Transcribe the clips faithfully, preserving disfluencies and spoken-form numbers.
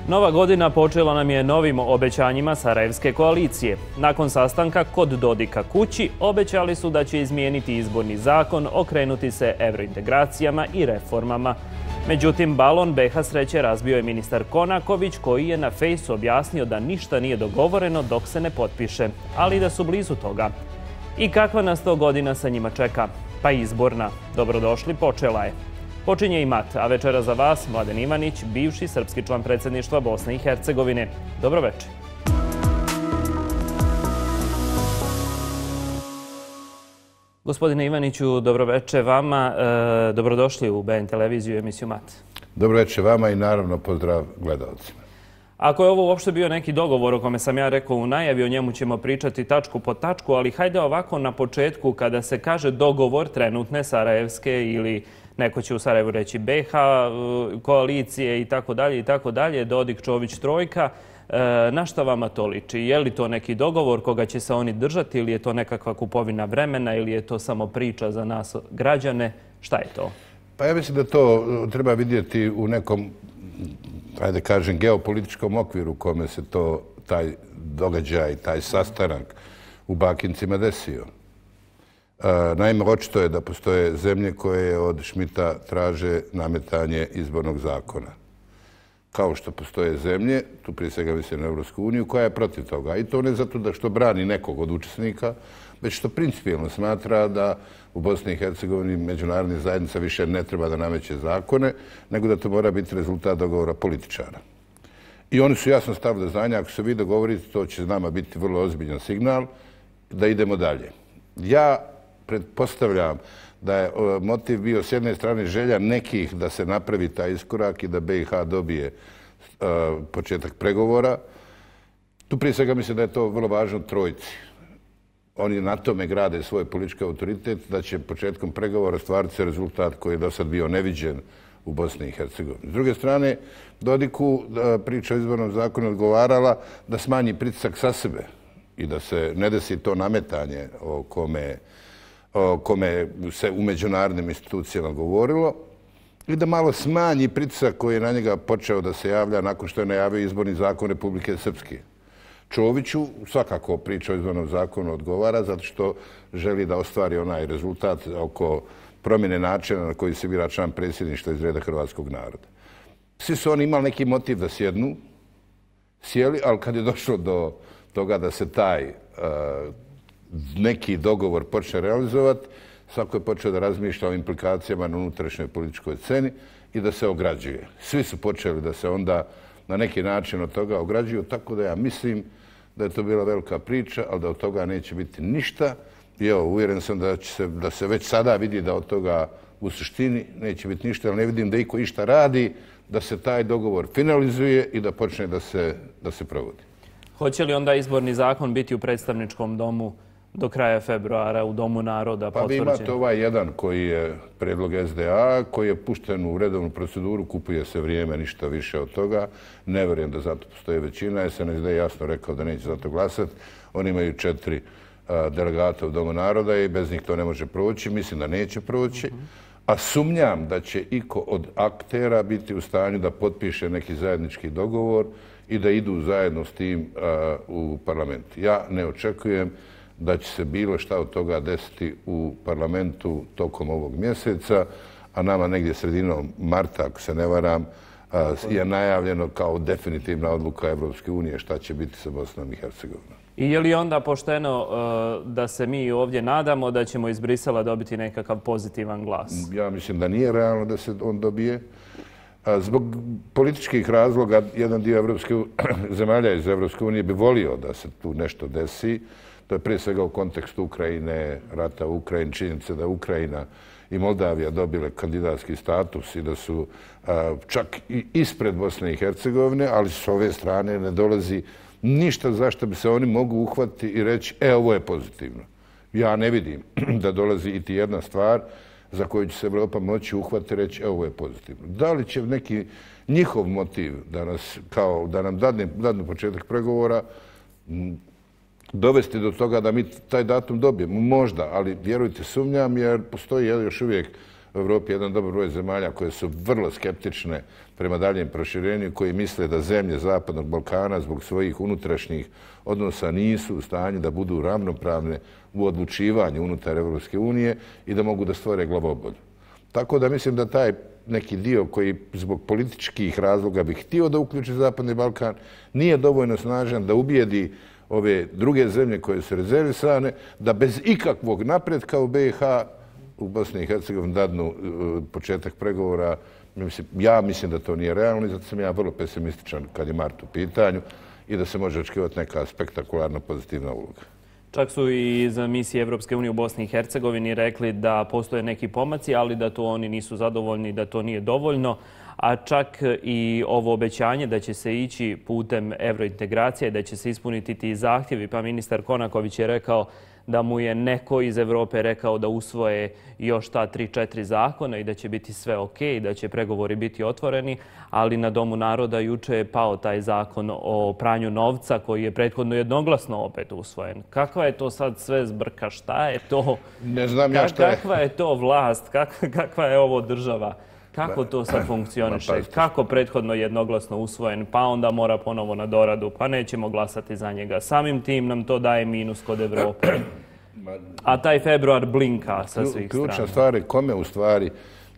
Nova godina počela nam je novim obećanjima Sarajevske koalicije. Nakon sastanka kod Dodika kući obećali su da će izmijeniti izborni zakon, okrenuti se evrointegracijama i reformama. Međutim, balon B H sreće razbio je ministar Konaković, koji je na fejsu objasnio da ništa nije dogovoreno dok se ne potpiše, ali da su blizu toga. I kakva nas to godina sa njima čeka? Pa izborna. Dobrodošli, počela je. Počinje i mat, a večera za vas Mladen Ivanić, bivši srpski član predsjedništva Bosne i Hercegovine. Dobro večer. Gospodine Ivaniću, dobro večer vama. E, dobrodošli u B N televiziju i emisiju Mat. Dobro večer vama i naravno pozdrav gledalcima. Ako je ovo uopšte bio neki dogovor o kome sam ja rekao u najavi, o njemu ćemo pričati tačku po tačku, ali hajde ovako na početku kada se kaže dogovor trenutne Sarajevske ili neko će u Sarajevu reći B H, koalicije i tako dalje i tako dalje, Dodik, Čović, trojka. Na šta vama to liči? Je li to neki dogovor koga će se oni držati ili je to nekakva kupovina vremena ili je to samo priča za nas građane? Šta je to? Pa ja mislim da to treba vidjeti u nekom, ajde kažem, geopolitičkom okviru u kome se to, taj događaj, taj sastanak u Bakincima desio. Naime, očito je da postoje zemlje koje od Šmita traže nametanje izbornog zakona. Kao što postoje zemlje, tu prije svega mislim na Evropsku uniju, koja je protiv toga. I to ne zato da što brani nekog od učesnika, već što principijelno smatra da u Bosni i Hercegovini međunarodna zajednica više ne treba da nameće zakone, nego da to mora biti rezultat dogovora političara. I oni su jasno stavili do znanja, ako se vi dogovorite, to će nama biti vrlo ozbiljan signal da idemo dalje. Ja pretpostavljam da je motiv bio s jedne strane želja nekih da se napravi taj iskorak i da B i H dobije početak pregovora. Tu prije svega mislim da je to vrlo važno trojci. Oni na tome grade svoj politički autoritet, da će početkom pregovora stvariti se rezultat koji je do sad bio neviđen u Bosni i Hercegovini. S druge strane, Dodiku priča o izbornom zakonu odgovarala da smanji pritisak sa sebe i da se ne desi to nametanje o kome o kome se u međunarodnim institucijama govorilo i da malo smanji pritisak koji je na njega počeo da se javlja nakon što je najavio izborni zakon Republike Srpske. Čoviću svakako priča o izbornom zakonu odgovara zato što želi da ostvari onaj rezultat oko promjene načina na koji se bira član predsjedništva iz reda hrvatskog naroda. Svi su oni imali neki motiv da sjednu, sjeli, ali kad je došlo do toga da se taj neki dogovor počne realizovati, svako je počeo da razmišlja o implikacijama na unutrašnjoj političkoj sceni i da se ograđuje. Svi su počeli da se onda na neki način od toga ograđuju, tako da ja mislim da je to bila velika priča, ali da od toga neće biti ništa. I evo, uvjeren sam da će se, da se već sada vidi da od toga u suštini neće biti ništa, ali ne vidim da iko išta radi, da se taj dogovor finalizuje i da počne da se, da se provodi. Hoće li onda izborni zakon biti u predstavničkom domu do kraja februara u Domu naroda potvrđen? Pa vi imate ovaj jedan koji je predlog S D A, koji je pušten u redovnu proceduru, kupuje se vrijeme, ništa više od toga. Ne vjerujem da zato postoji većina. S N S D je jasno rekao da neće za to glasati. Oni imaju četiri delegata u Domu naroda i bez njih to ne može proći. Mislim da neće proći. A sumnjam da će iko od aktera biti u stanju da potpiše neki zajednički dogovor i da idu zajedno s tim u parlament. Ja ne očekujem da će se bilo šta od toga desiti u parlamentu tokom ovog mjeseca, a nama negdje sredinom marta, ako se ne varam, je najavljeno kao definitivna odluka Evropske unije šta će biti sa Bosnom i Hercegovinom. I je li onda pošteno da se mi ovdje nadamo da ćemo iz Brisela dobiti nekakav pozitivan glas? Ja mislim da nije realno da se on dobije. Zbog političkih razloga, jedan dio evropske, zemalja iz Evropske unije bi volio da se tu nešto desi. To je prije svega u kontekstu Ukrajine, rata u Ukrajini, činjenice da Ukrajina i Moldavija dobile kandidatski status i da su a, čak i ispred Bosne i Hercegovine, ali s ove strane ne dolazi ništa zašto bi se oni mogu uhvatiti i reći e, ovo je pozitivno. Ja ne vidim da dolazi iti jedna stvar za koju će se Evropa moći uhvatiti i reći e, ovo je pozitivno. Da li će neki njihov motiv da, nas, kao, da nam dadne, dadne početak pregovora dovesti do toga da mi taj datum dobijemo? Možda, ali vjerujte, sumnjam jer postoji još uvijek u Evropi jedan dobar broj zemalja koje su vrlo skeptične prema daljem proširenju, koji misle da zemlje Zapadnog Balkana zbog svojih unutrašnjih odnosa nisu u stanju da budu ravnopravne u odlučivanju unutar Evropske unije i da mogu da stvore glavobolju. Tako da mislim da taj neki dio koji zbog političkih razloga bi htio da uključi Zapadni Balkan nije dovoljno snažan da ubijedi ove druge zemlje koje su rezervisane, da bez ikakvog napretka u B i H, u Bosni i Hercegovini dadnu početak pregovora. Ja mislim da to nije realno i zato sam ja vrlo pesimističan kad je mart u pitanju i da se može očekivati neka spektakularna pozitivna uloga. Čak su i iz misije Evropske unije u Bosni i Hercegovini rekli da postoje neki pomaci, ali da to oni nisu zadovoljni, da to nije dovoljno. A čak i ovo obećanje da će se ići putem evrointegracije, da će se ispuniti ti zahtjevi. Pa ministar Konaković je rekao da mu je neko iz Evrope rekao da usvoje još ta tri četiri zakona i da će biti sve ok, da će pregovori biti otvoreni, ali na Domu naroda juče je pao taj zakon o pranju novca koji je prethodno jednoglasno opet usvojen. Kakva je to sad sve zbrka? Šta je to? Ne znam ja šta je. Kakva je to vlast? Kakva je ovo država? Kako to sad funkcioniše? Kako prethodno jednoglasno usvojen, pa onda mora ponovo na doradu, pa nećemo glasati za njega. Samim tim nam to daje minus kod Evrope. A taj februar blinka sa svih strana. Ključna stvar je kome u stvari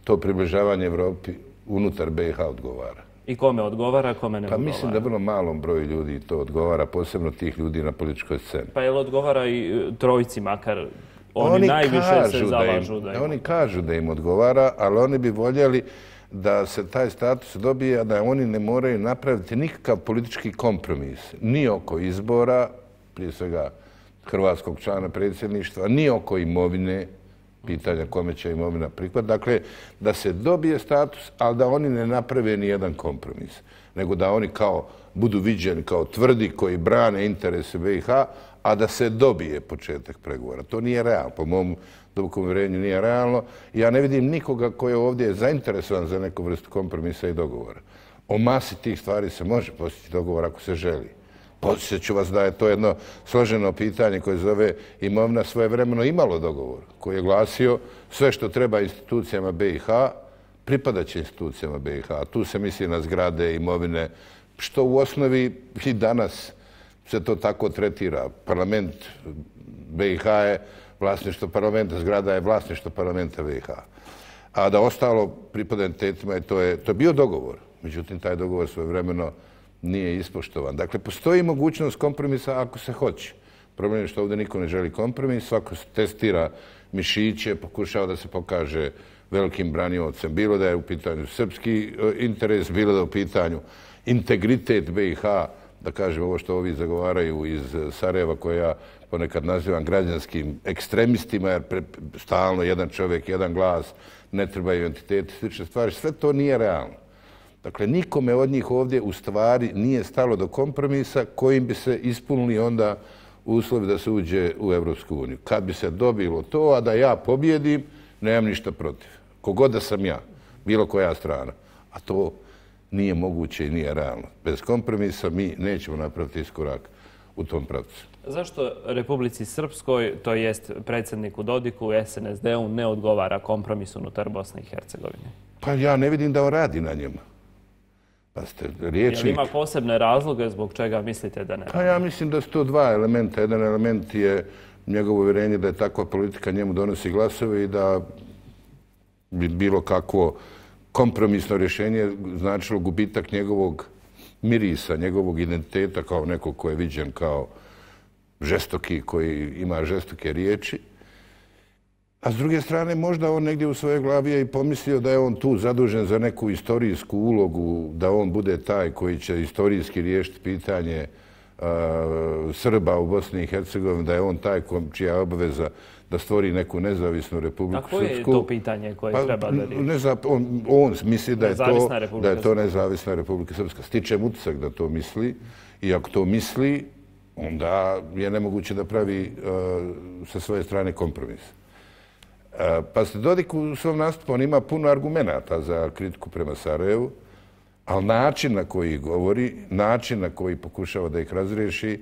to približavanje Evropi unutar B i H odgovara. I kome odgovara, kome ne odgovara? Pa mislim da vrlo malom broju ljudi to odgovara, posebno tih ljudi na političkoj sceni. Pa je li odgovara i trojici makar? Oni, oni najviše se zalažu da im... Oni kažu da im odgovara, ali oni bi voljeli da se taj status dobije, a da oni ne moraju napraviti nikakav politički kompromis. Ni oko izbora, prije svega hrvatskog člana predsjedništva, ni oko imovine, pitanja kome će imovina prihvatiti. Dakle, da se dobije status, ali da oni ne naprave ni jedan kompromis. Nego da oni kao budu viđeni kao tvrdi koji brane interese B i H, a da se dobije početak pregovora. To nije realno. Po mom dubokom uvjerenju nije realno. Ja ne vidim nikoga koji je ovdje zainteresovan za neku vrstu kompromisa i dogovora. O masi tih stvari se može postići dogovor ako se želi. Podsjeću vas da je to jedno složeno pitanje koje zove imovina svojevremeno imalo dogovor, koji je glasio sve što treba institucijama B i H, pripadaće institucijama B i H. Tu se misli na zgrade, imovine, što u osnovi i danas se to tako tretira. Parlament B i H je vlasništvo parlamenta, zgrada je vlasništvo parlamenta B i H. A da ostalo pripada entitetima, to je, to je bio dogovor. Međutim, taj dogovor svojevremeno nije ispoštovan. Dakle, postoji mogućnost kompromisa ako se hoće. Problem je što ovdje niko ne želi kompromis, svako testira mišiće, pokušava da se pokaže velikim braniocem, bilo da je u pitanju srpski interes, bilo da je u pitanju integritet B i H, da kažem ovo što ovi zagovaraju iz Sarajeva, koje ja ponekad nazivam građanskim ekstremistima, jer stalno jedan čovjek, jedan glas, ne trebaju entiteti, slične stvari. Sve to nije realno. Dakle, nikome od njih ovdje u stvari nije stalo do kompromisa kojim bi se ispunili onda uslovi da se uđe u Evropsku uniju. Kad bi se dobilo to, a da ja pobjedim, nemam ništa protiv. Kogod da sam ja, bilo koja strana. A to nije moguće i nije realno. Bez kompromisa mi nećemo napraviti iskorak u tom pravcu. Zašto Republici Srpskoj, to jest predsjedniku Dodiku, S N S D-u, ne odgovara kompromis unutar Bosne i Hercegovine? Pa ja ne vidim da on radi na njemu. Pa ste riječnik... Jel ima posebne razloge zbog čega mislite da ne radi? Pa ja mislim da su to dva elementa. Jedan element je njegovo uvjerenje da je takva politika njemu donosi glasove i da bi bilo kakvo kompromisno rješenje značilo gubitak njegovog mirisa, njegovog identiteta kao nekog ko je viđen kao žestoki, koji ima žestoke riječi. A s druge strane, možda on negdje u svojoj glavi je i pomislio da je on tu zadužen za neku istorijsku ulogu, da on bude taj koji će istorijski riješiti pitanje uh, Srba u Bosni i Hercegovini, da je on taj čija je obaveza da stvori neku nezavisnu Republiku Srpsku. A koje je to pitanje koje pa, treba da riješi? Neza, on, on misli da je, to, da je to nezavisna Republika Srpska. Stičem utisak da to misli i ako to misli, onda je nemoguće da pravi uh, sa svoje strane kompromis. Pa ste Dodik u svom nastupu, on ima puno argumenata za kritiku prema Sarajevu, ali način na koji govori, način na koji pokušava da ih razriješi,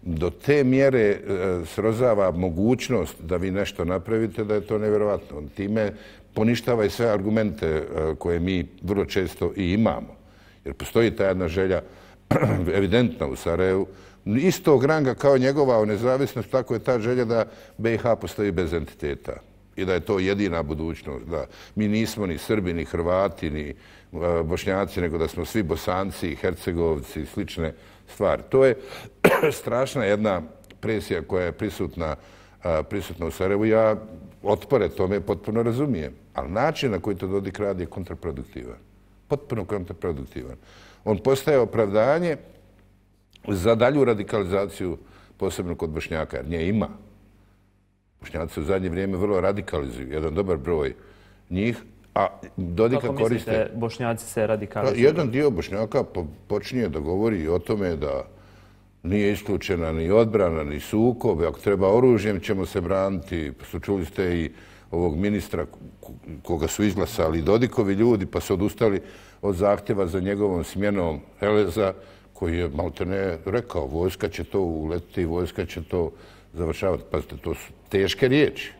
do te mjere srozava mogućnost da vi nešto napravite, da je to nevjerovatno. Time poništava i sve argumente koje mi vrlo često i imamo. Jer postoji ta jedna želja evidentna u Sarajevu, istog ranga kao njegova o nezavisnost, tako je ta želja da B i H postoji bez entiteta i da je to jedina budućnost. Da mi nismo ni Srbi, ni Hrvati, ni Bošnjaci, nego da smo svi Bosanci, Hercegovci i slične stvari. To je strašna jedna presija koja je prisutna, prisutna u Sarajevu. Ja otpore tome potpuno razumijem, ali način na koji to Dodik radi je kontraproduktivan. Potpuno kontraproduktivan. On postaje opravdanje za dalju radikalizaciju, posebno kod Bošnjaka, jer nje ima. Bošnjaci u zadnje vrijeme vrlo radikalizuju, jedan dobar broj njih, a Dodika koriste... Kako mislite, Bošnjaci se radikalizuju? Jedan dio Bošnjaka počinje da govori o tome da nije isključena ni odbrana, ni sukob, ako treba oružjem ćemo se braniti. Čuli ste i ovog ministra koga su izglasali Dodikovi ljudi, pa su odustali od zahtjeva za njegovom smjenom Heleza, koji je maltene rekao, vojska će to uletiti, vojska će to završavati. Pazite, to su teške riječi.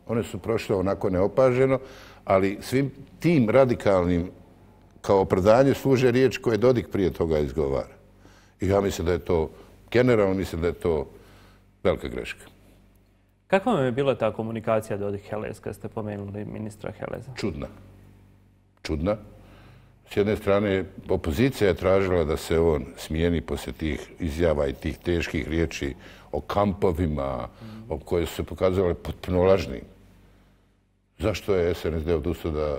One su prošle onako neopaženo, ali svim tim radikalnim kao opravdanje služe riječ koje Dodik prije toga izgovara. I ja mislim da je to, generalno mislim da je to velika greška. Kakva vam je bila ta komunikacija Dodik-Helez kad ste pomenuli ministra Heleza? Čudna. Čudna. S jedne strane, opozicija je tražila da se on smijeni poslije tih izjava i tih teških riječi o kampovima, o koje su se pokazale potpuno lažnim. Zašto je S N S D odustao da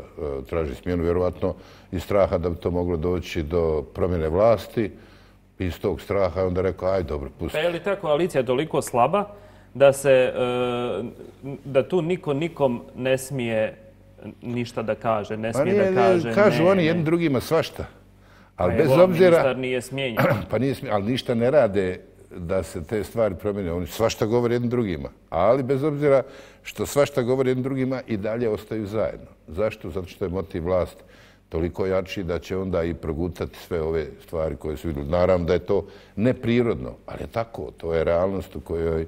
traži smjenu? Vjerovatno iz straha da bi to moglo doći do promjene vlasti. Iz tog straha je onda rekao, aj dobro, pusti. Pa je li ta koalicija toliko slaba da se, da tu niko nikom ne smije ništa da kaže, ne smije da kaže ne? Kažu oni jednim drugima svašta. Ali bez obzira... ministar nije smijenjen. Pa nije smijenjen, ali ništa ne rade da se te stvari promijene. Oni svašta govore jednim drugima. Ali bez obzira što svašta govore jednim drugima i dalje ostaju zajedno. Zašto? Zato što je motiv vlasti toliko jači da će onda i progutati sve ove stvari koje su vidjeli. Naravno da je to neprirodno, ali je tako. To je realnost u kojoj,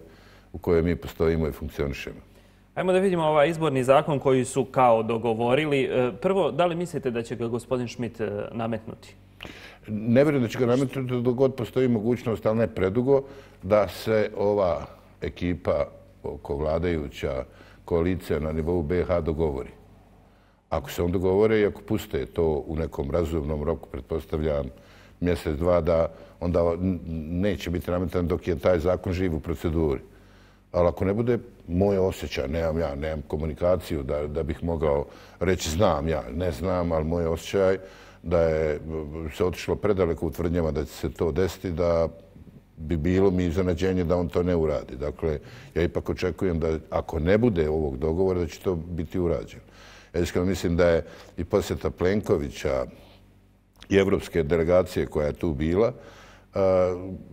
u kojoj mi postojimo i funkcionišemo. Ajmo da vidimo ovaj izborni zakon koji su kao dogovorili. Prvo, da li mislite da će ga gospodin Schmidt nametnuti? Ne vjerujem da će ga nametnuti dok god postoji mogućnost, ali ne predugo, da se ova ekipa oko vladajuća koalicija na nivou B i H dogovori. Ako se on dogovore i ako puste to u nekom razumnom roku, pretpostavljam mjesec, dva, da onda neće biti nametan dok je taj zakon živ u proceduri. Ali ako ne bude, moje osjećaj, nemam ja, nemam komunikaciju da, da bih mogao reći znam ja, ne znam, ali moj osjećaj da je se otišlo predaleko u tvrdnjama da će se to desiti, da bi bilo mi iznenađenje da on to ne uradi. Dakle, ja ipak očekujem da ako ne bude ovog dogovora, da će to biti urađeno. Ja iskreno mislim da je i posjeta Plenkovića i evropske delegacije koja je tu bila,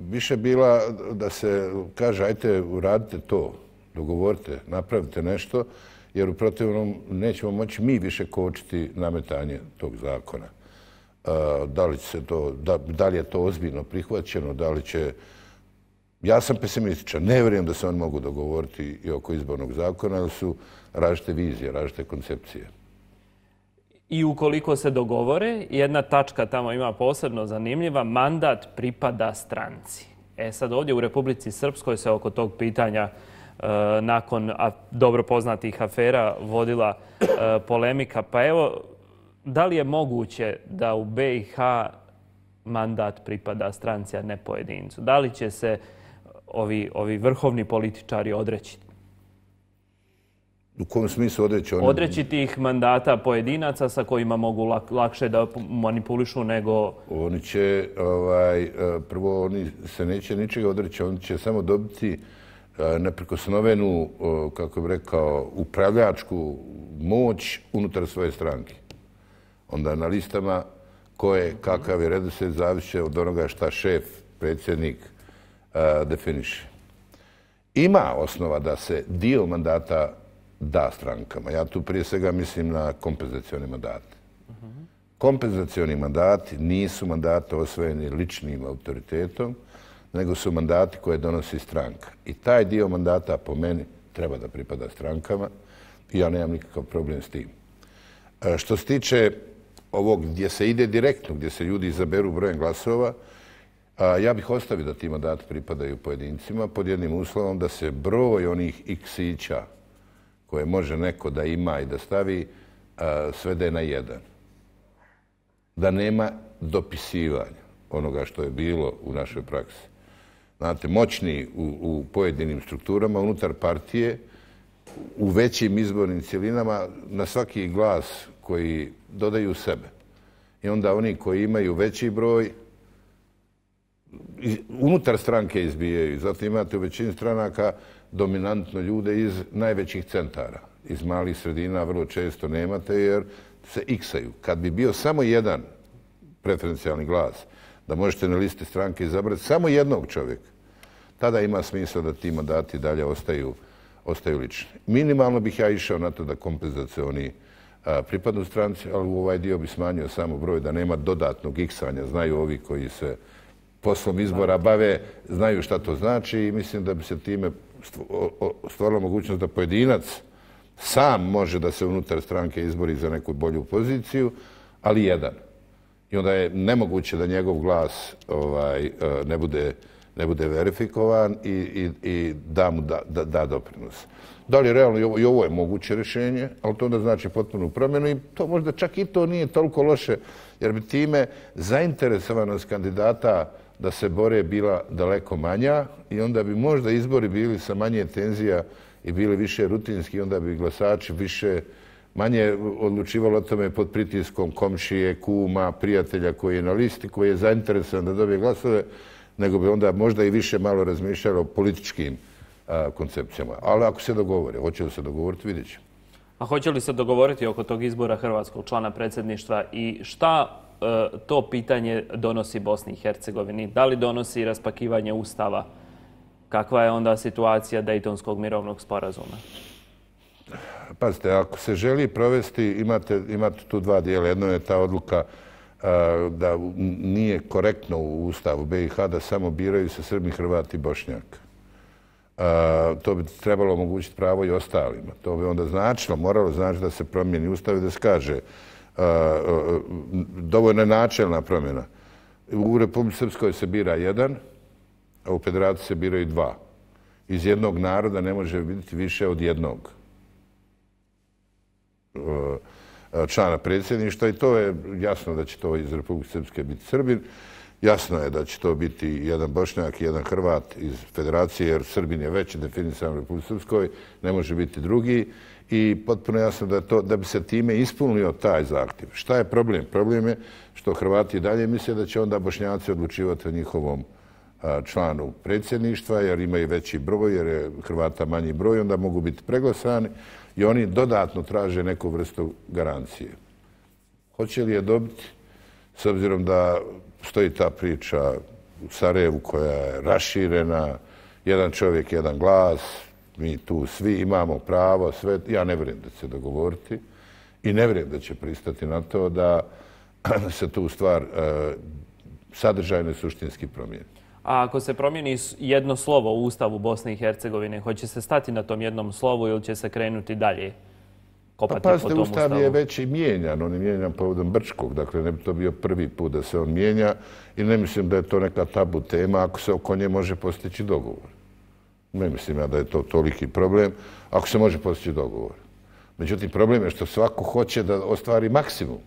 više bila da se kaže ajte uradite to, dogovorite, napravite nešto, jer u protivnom nećemo moći mi više kočiti nametanje tog zakona. Da li, se to, da, da li je to ozbiljno prihvaćeno, da li će... Ja sam pesimističan, ne vjerujem da se oni mogu dogovoriti i oko izbornog zakona, jer su različite vizije, različite koncepcije. I ukoliko se dogovore, jedna tačka tamo ima posebno zanimljiva, mandat pripada stranci. E sad ovdje u Republici Srpskoj se oko tog pitanja e, nakon a, dobro poznatih afera vodila e, polemika. Pa evo, da li je moguće da u B i H mandat pripada stranci, a ne pojedincu? Da li će se ovi, ovi vrhovni političari odreći? U kom smislu odreći? Oni... Odreći tih mandata pojedinaca sa kojima mogu lak, lakše da manipulišu nego... Oni će, ovaj, prvo, oni se neće ničega odreći, oni će samo dobiti neprikosnovenu, kako bih rekao, upravljačku moć unutar svoje stranke. Onda na listama koje, kakav je redoslijed, zavisi od onoga šta šef, predsjednik definiše. Ima osnova da se dio mandata da strankama. Ja tu prije svega mislim na kompenzacioni mandati. Kompenzacioni mandati nisu mandati osvojeni ličnim autoritetom, nego su mandati koje donosi stranka. I taj dio mandata po meni treba da pripada strankama i ja nemam nikakav problem s tim. Što se tiče ovog gdje se ide direktno, gdje se ljudi izaberu brojem glasova, ja bih ostavio da ti mandati pripadaju pojedincima pod jednim uslovom da se broj onih iksića koje može neko da ima i da stavi svede na jedan. Da nema dopisivanja onoga što je bilo u našoj praksi. Znate, moćni u, u pojedinim strukturama unutar partije, u većim izbornim cjelinama, na svaki glas koji dodaju sebe. I onda oni koji imaju veći broj, unutar stranke izbijaju. Zato imate u većini stranaka dominantno ljude iz najvećih centara. Iz malih sredina vrlo često nemate jer se iksaju. Kad bi bio samo jedan preferencijalni glas, da možete na listi stranke izabrati samo jednog čovjeka, tada ima smisla da ti mandati dalje ostaju, ostaju lični. Minimalno bih ja išao na to da kompenzacioni pripadnu stranci, ali u ovaj dio bi smanjio samo broj da nema dodatnog iksanja. Znaju ovi koji se poslom izbora bave, znaju šta to znači i mislim da bi se time stvorila mogućnost da pojedinac sam može da se unutar stranke izbori za neku bolju poziciju, ali jedan. I onda je nemoguće da njegov glas ovaj, ne, bude, ne bude verifikovan i, i, i da mu da, da, da doprinos. Da li je realno i ovo, i ovo je moguće rješenje, ali to onda znači potpunu promjenu i to možda čak i to nije toliko loše, jer bi time zainteresovanost kandidata da se bore bila daleko manja i onda bi možda izbori bili sa manje tenzija i bili više rutinski, onda bi glasači više manje odlučivalo o tome pod pritiskom komšije, kuma, prijatelja koji je na listi, koji je zainteresovan da dobije glasove, nego bi onda možda i više malo razmišljalo o političkim a, koncepcijama. Ali ako se dogovore, hoće li se dogovoriti, vidjet ćemo. A hoće li se dogovoriti oko tog izbora hrvatskog člana predsjedništva i šta e, to pitanje donosi Bosni i Hercegovini? Da li donosi raspakivanje Ustava? Kakva je onda situacija Dejtonskog mirovnog sporazuma? Pazite, ako se želi provesti, imate, imate tu dva dijela. Jedno je ta odluka a, da nije korektno u Ustavu be i ha da samo biraju se Srbi, Hrvati i Bošnjak. A, to bi trebalo omogućiti pravo i ostalima. To bi onda značilo, moralo znači da se promijeni Ustav i da se kaže a, a, dovoljno je načelna promjena. U Republici Srpskoj se bira jedan, a u Federaciji se biraju dva. Iz jednog naroda ne može biti više od jednog člana predsjedništva i to je jasno da će to iz Republike Srpske biti Srbin. Jasno je da će to biti jedan Bošnjak i jedan Hrvat iz Federacije, jer Srbin je već definisan u Republike Srpskoj, ne može biti drugi i potpuno jasno da, to, da bi se time ispunio taj zahtjev. Šta je problem? Problem je što Hrvati dalje misle da će onda Bošnjaci odlučivati o njihovom članu predsjedništva, jer imaju veći broj, jer je Hrvata manji broj, onda mogu biti preglasani i oni dodatno traže neku vrstu garancije. Hoće li je dobiti, s obzirom da stoji ta priča u Sarajevu koja je raširena, jedan čovjek, jedan glas, mi tu svi imamo pravo, sve, ja ne vjerujem da će se dogovoriti i ne vjerujem da će pristati na to da se tu stvar sadržajno i suštinski promijeni. A ako se promijeni jedno slovo u Ustavu Bosne i Hercegovine, hoće se stati na tom jednom slovu ili će se krenuti dalje kopati pa, pazite, po tom Ustav Ustavu? Je već i mijenjan, on je mijenjan povodom Brčkog, dakle ne bi to bio prvi put da se on mijenja i ne mislim da je to neka tabu tema ako se oko nje može postići dogovor. Ne mislim ja da je to toliki problem ako se može postići dogovor. Međutim, problem je što svako hoće da ostvari maksimum.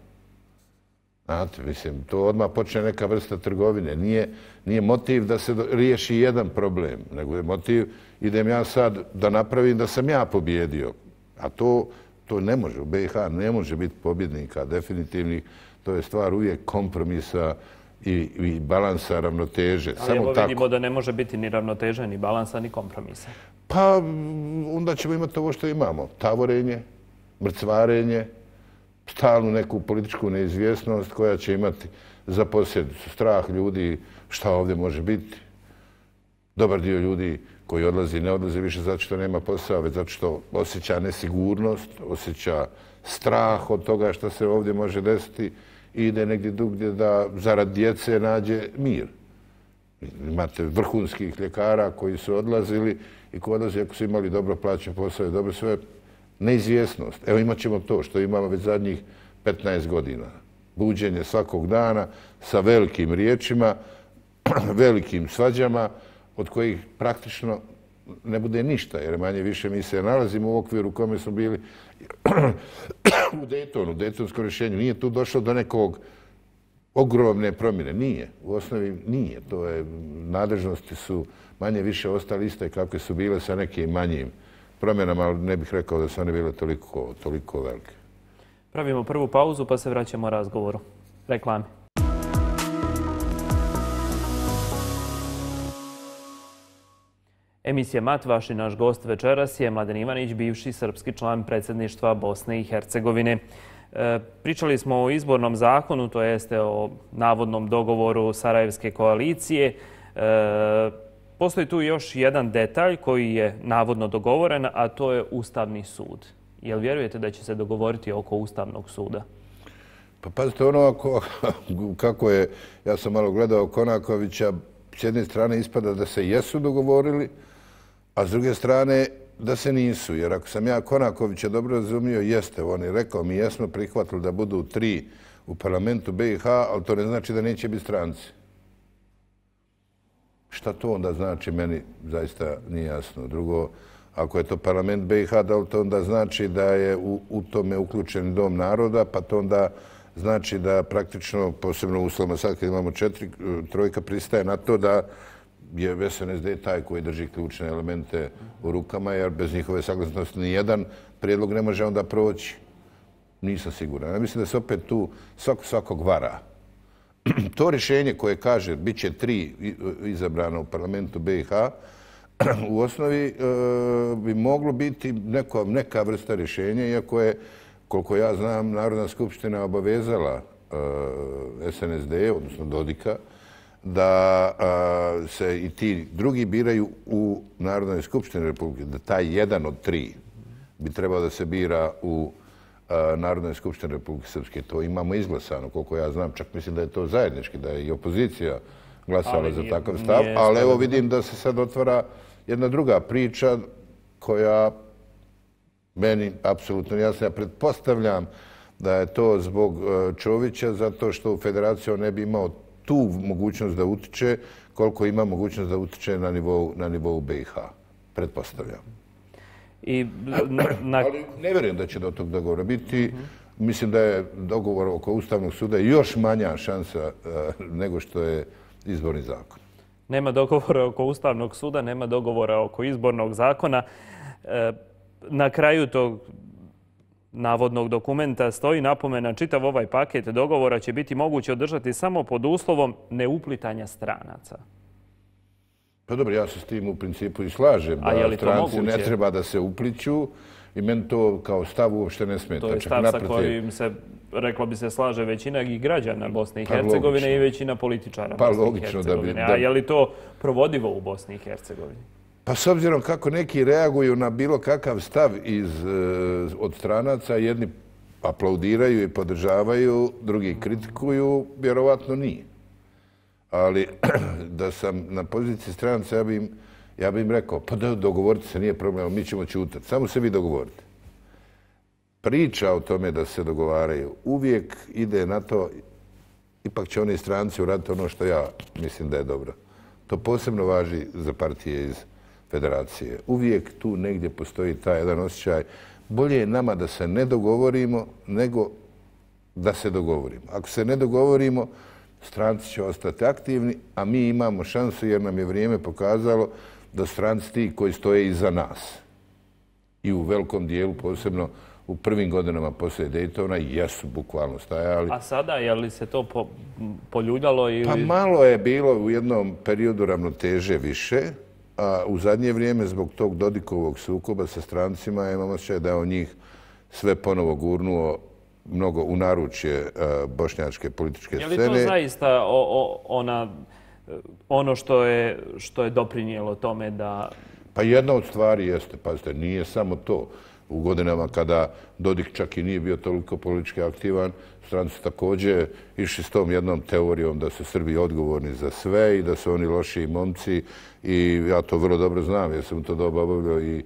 Znate, mislim, to odmah počne neka vrsta trgovine. Nije, nije motiv da se riješi jedan problem, nego je motiv idem ja sad da napravim da sam ja pobjedio. A to, to ne može. U be i ha ne može biti pobjednika definitivnih. To je stvar uvijek kompromisa i, i balansa, ravnoteže. Ali Samo evo tako. vidimo da ne može biti ni ravnoteže, ni balansa, ni kompromisa. Pa onda ćemo imati ovo što imamo. Tavorenje, mrcvarenje, stalnu neku političku neizvjesnost koja će imati za posljedicu strah ljudi šta ovdje može biti. Dobar dio ljudi koji odlazi ne odlazi više zato što nema posao, već zato što osjeća nesigurnost, osjeća strah od toga što se ovdje može desiti i ide negdje drugdje da zarad djece nađe mir. Imate vrhunskih ljekara koji su odlazili i koji odlaze ako su imali dobro plaćen posao i dobro sve. Neizvjesnost. Evo imat ćemo to što imamo već zadnjih petnaest godina. Buđenje svakog dana sa velikim riječima, velikim svađama, od kojih praktično ne bude ništa, jer manje više mi se nalazimo u okviru u kome smo bili u Daytonu, u Daytonskom rješenju. Nije tu došlo do nekog ogromne promjene. Nije. U osnovi nije. To je, nadležnosti su manje više ostale iste kakve su bile sa nekim manjim promjenama, ali ne bih rekao da su one bile toliko, toliko velike. Pravimo prvu pauzu pa se vraćamo razgovoru. Reklame. Emisija Mat, vaš i naš gost večeras je Mladen Ivanić, bivši srpski član predsjedništva Bosne i Hercegovine. E, pričali smo o izbornom zakonu, to jeste o navodnom dogovoru Sarajevske koalicije. E, postoji tu još jedan detalj koji je navodno dogovoren, a to je Ustavni sud. Jel vjerujete da će se dogovoriti oko Ustavnog suda? Pa pazite, ono ako, kako je, ja sam malo gledao Konakovića, s jedne strane ispada da se jesu dogovorili, a s druge strane da se nisu. Jer ako sam ja Konakovića dobro razumio, jeste. On je rekao, mi jesmo prihvatili da budu tri u parlamentu B i H, ali to ne znači da neće biti stranci. Šta to onda znači, meni zaista nije jasno. Drugo, ako je to parlament B i H, da li to onda znači da je u, u tome uključen Dom naroda, pa to onda znači da praktično, posebno u uslovima sad kad imamo četiri, trojka pristaje na to da je S N S D taj koji drži ključne elemente u rukama, jer bez njihove saglasnosti ni jedan prijedlog ne može onda proći. Nisam siguran. Ja mislim da se opet tu svako svakog vara. To rješenje koje kaže bit će tri izabrana u parlamentu B i H, u osnovi e, bi moglo biti neko, neka vrsta rješenja, iako je, koliko ja znam, Narodna skupština obavezala e, S N S D, odnosno Dodika, da a, se i ti drugi biraju u Narodnoj skupštini Republike, da taj jedan od tri bi trebao da se bira u a, Narodnoj skupštini Republike Srpske. To imamo izglasano, koliko ja znam, čak mislim da je to zajednički, da je i opozicija glasala ali za nije, takav stav, ali evo vidim da se sad otvara jedna druga priča koja meni apsolutno jasna. Ja pretpostavljam da je to zbog Čovića, zato što u federaciju ne bi imao tu mogućnost da utiče koliko ima mogućnost da utiče na nivou, na nivou B i H. Pretpostavljam. I na, na... Ali ne vjerujem da će do tog dogovora biti. Mm-hmm. Mislim da je dogovor oko Ustavnog suda još manja šansa uh, nego što je izborni zakon. Nema dogovora oko Ustavnog suda, nema dogovora oko izbornog zakona. E, na kraju tog navodnog dokumenta stoji napomena: čitav ovaj paket dogovora će biti moguće održati samo pod uslovom neuplitanja stranaca. Pa dobro, ja se s tim u principu i slažem. A je li to stranci moguće? Ne treba da se upliću i meni to kao stav uopšte ne smeta. To je stav sa kojim se, reklo bi se, slaže većina i građana Bosne i Hercegovine pa, i većina političara pa, Bosne logično, i Hercegovine. Da bi, da... A je li to provodivo u Bosni i Hercegovini? Pa s obzirom kako neki reaguju na bilo kakav stav iz, od stranaca, jedni aplaudiraju i podržavaju, drugi kritikuju, vjerovatno nije. Ali da sam na poziciji stranaca, ja bi im, ja bi im rekao, pa da dogovorite se, nije problem, mi ćemo ćutati. Samo se vi dogovorite. Priča o tome da se dogovaraju uvijek ide na to, ipak će oni stranci uraditi ono što ja mislim da je dobro. To posebno važi za partije iz federacije. Uvijek tu negdje postoji taj jedan osjećaj. Bolje je nama da se ne dogovorimo nego da se dogovorimo. Ako se ne dogovorimo, stranci će ostati aktivni, a mi imamo šansu jer nam je vrijeme pokazalo da stranci ti koji stoje iza nas i u velikom dijelu, posebno u prvim godinama poslije Daytona, jesu bukvalno stajali. A sada, je li se to po, poljuljalo? Ili... Pa malo je bilo u jednom periodu ravnoteže više, a u zadnje vrijeme zbog tog Dodikovog sukoba sa strancima imamo osjećaj da je on njih sve ponovo gurnuo mnogo u naručje uh, bošnjačke političke scene. Je li to zaista o, o, ona, ono što je, što je doprinijelo tome da... Pa jedna od stvari jeste, pazite, nije samo to. U godinama kada Dodik čak i nije bio toliko politički aktivan, stranci su također išli s tom jednom teorijom da su Srbi odgovorni za sve i da su oni lošiji momci i ja to vrlo dobro znam jer sam u to doba obavljao i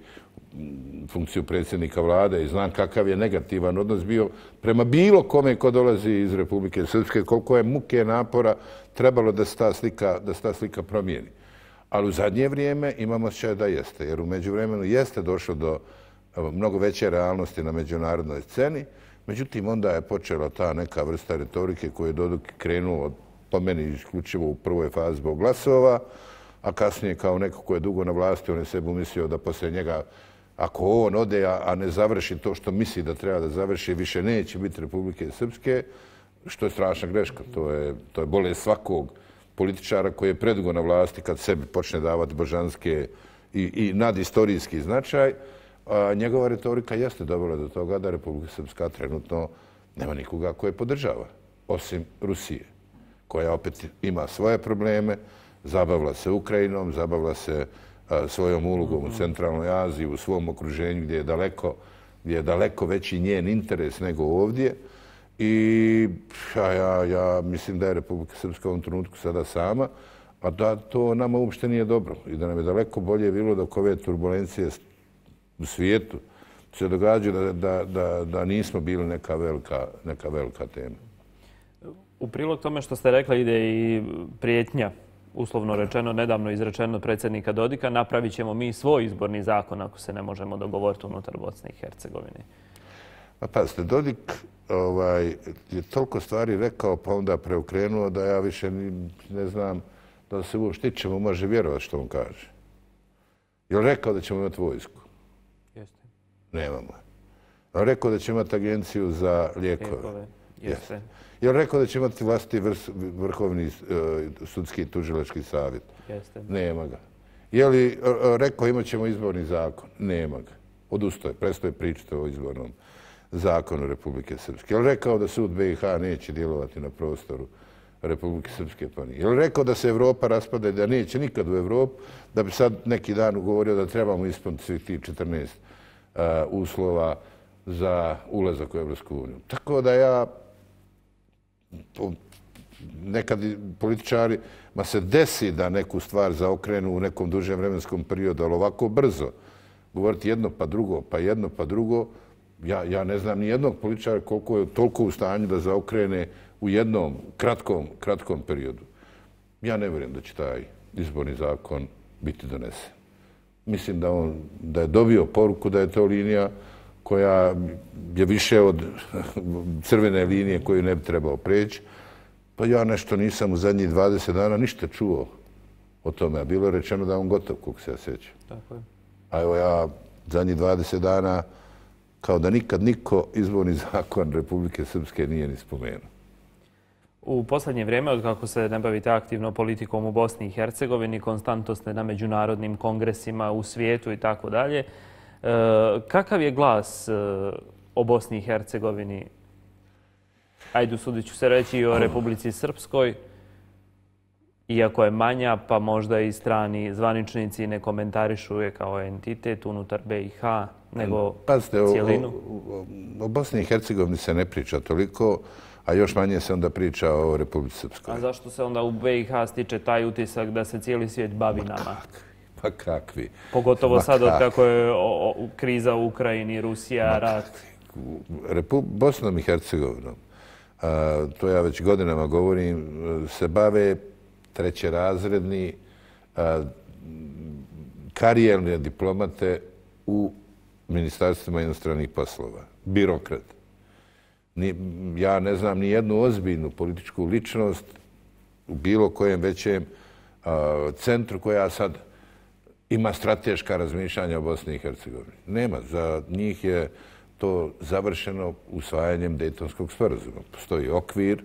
funkciju predsjednika vlade i znam kakav je negativan odnos bio prema bilo kome ko dolazi iz Republike Srpske, koliko je muke napora trebalo da se ta slika, da se ta slika promijeni. Ali u zadnje vrijeme imamo osjećaj da jeste, jer u međuvremenu jeste došlo do mnogo veće realnosti na međunarodnoj sceni. Međutim, onda je počela ta neka vrsta retorike koju je Dodik krenuo po meni isključivo u prvoj fazi zbog glasova, a kasnije kao neko ko je dugo na vlasti, on je sebi umislio da poslije njega, ako on ode, a ne završi to što misli da treba da završi, više neće biti Republike Srpske, što je strašna greška. To je, to je bolest svakog političara koji je predugo na vlasti kad sebi počne davati božanske i, i nadistorijski značaj. A njegova retorika jeste dovela do toga da Republika Srpska trenutno nema nikoga koje podržava, osim Rusije, koja opet ima svoje probleme, zabavila se Ukrajinom, zabavila se a, svojom ulogom u centralnoj Aziji, u svom okruženju gdje je daleko, gdje je daleko veći njen interes nego ovdje. I ja, ja, ja mislim da je Republika Srpska u ovom trenutku sada sama, a da to nama uopšte nije dobro i da nam je daleko bolje bilo dok ove turbulencije u svijetu se događaju da, da, da, da nismo bili neka velika, neka velika tema. U prilog tome što ste rekli ide i prijetnja, uslovno rečeno, nedavno izrečeno predsjednika Dodika, napravit ćemo mi svoj izborni zakon ako se ne možemo dogovoriti unutar Bosne i Hercegovine. Pa pazite, Dodik ovaj, je toliko stvari rekao pa onda preokrenuo da ja više ni, ne znam da se uopšte ćemo može vjerovati što on kaže. Je li rekao da ćemo imati vojsku? Jeste. Nemamo. Je li rekao da ćemo imati agenciju za lijekove? Lijekove, jeste. Je li rekao da će imati vlastiti vrhovni sudski i tužilački savjet? Jeste. Nema ga. Je li rekao imat ćemo izborni zakon? Nema ga. Odustoje, prestoje pričati o izbornom zakonu Republike Srpske. Je li rekao da sud B i H neće djelovati na prostoru Republike Srpske? Pa nije. Je li rekao da se Evropa raspada i da neće nikad u Evropu, da bi sad neki dan ugovorio da trebamo ispuniti svih tih četrnaest uh, uslova za ulazak u Evropsku uniju? Tako da ja nekad političari ma se desi da neku stvar zaokrenu u nekom dužem vremenskom periodu, ali ovako brzo govoriti jedno pa drugo, pa jedno pa drugo, ja, ja ne znam ni jednog političara koliko je toliko u stanju da zaokrene u jednom kratkom, kratkom periodu. Ja ne vjerujem da će taj izborni zakon biti donesen. Mislim da, on, da je dobio poruku da je to linija koja je više od crvene linije koju ne bi trebao preći. Pa ja nešto nisam u zadnjih dvadeset dana ništa čuo o tome. A bilo je rečeno da je on gotov, koliko se ja sjećam. Tako je. A evo ja zadnjih dvadeset dana kao da nikad niko izborni zakon Republike Srpske nije ni spomenuo. U posljednje vrijeme, od kako se ne bavite aktivno politikom u Bosni i Hercegovini, konstantno ste na međunarodnim kongresima u svijetu i tako dalje. Kakav je glas o Bosni i Hercegovini? Ajde, usudit ću se reći i o Republici Srpskoj. Iako je manja, pa možda i strani zvaničnici ne komentarišu je kao entitet unutar B i H, nego Pazite, cijelinu. O, o, o Bosni i Hercegovini se ne priča toliko, a još manje se onda priča o Republici Srpskoj. A zašto se onda u B i H stiče taj utisak da se cijeli svijet bavi Ma nama? Kakvi, pa kakvi. Pogotovo Ma sad od kakvi. kako je o, o, kriza u Ukrajini, Rusija, Ma rat. Repu, Bosnom i Hercegovinom, a, to ja već godinama govorim, se bave trećerazredni a, karijerne diplomate u ministarstvima inostranih poslova. Birokrat. Ni, ja ne znam ni jednu ozbiljnu političku ličnost u bilo kojem većem a, centru koja sad ima strateška razmišljanja o Bosni i Hercegovini. Nema. Za njih je to završeno usvajanjem Dejtonskog sporazuma. Postoji okvir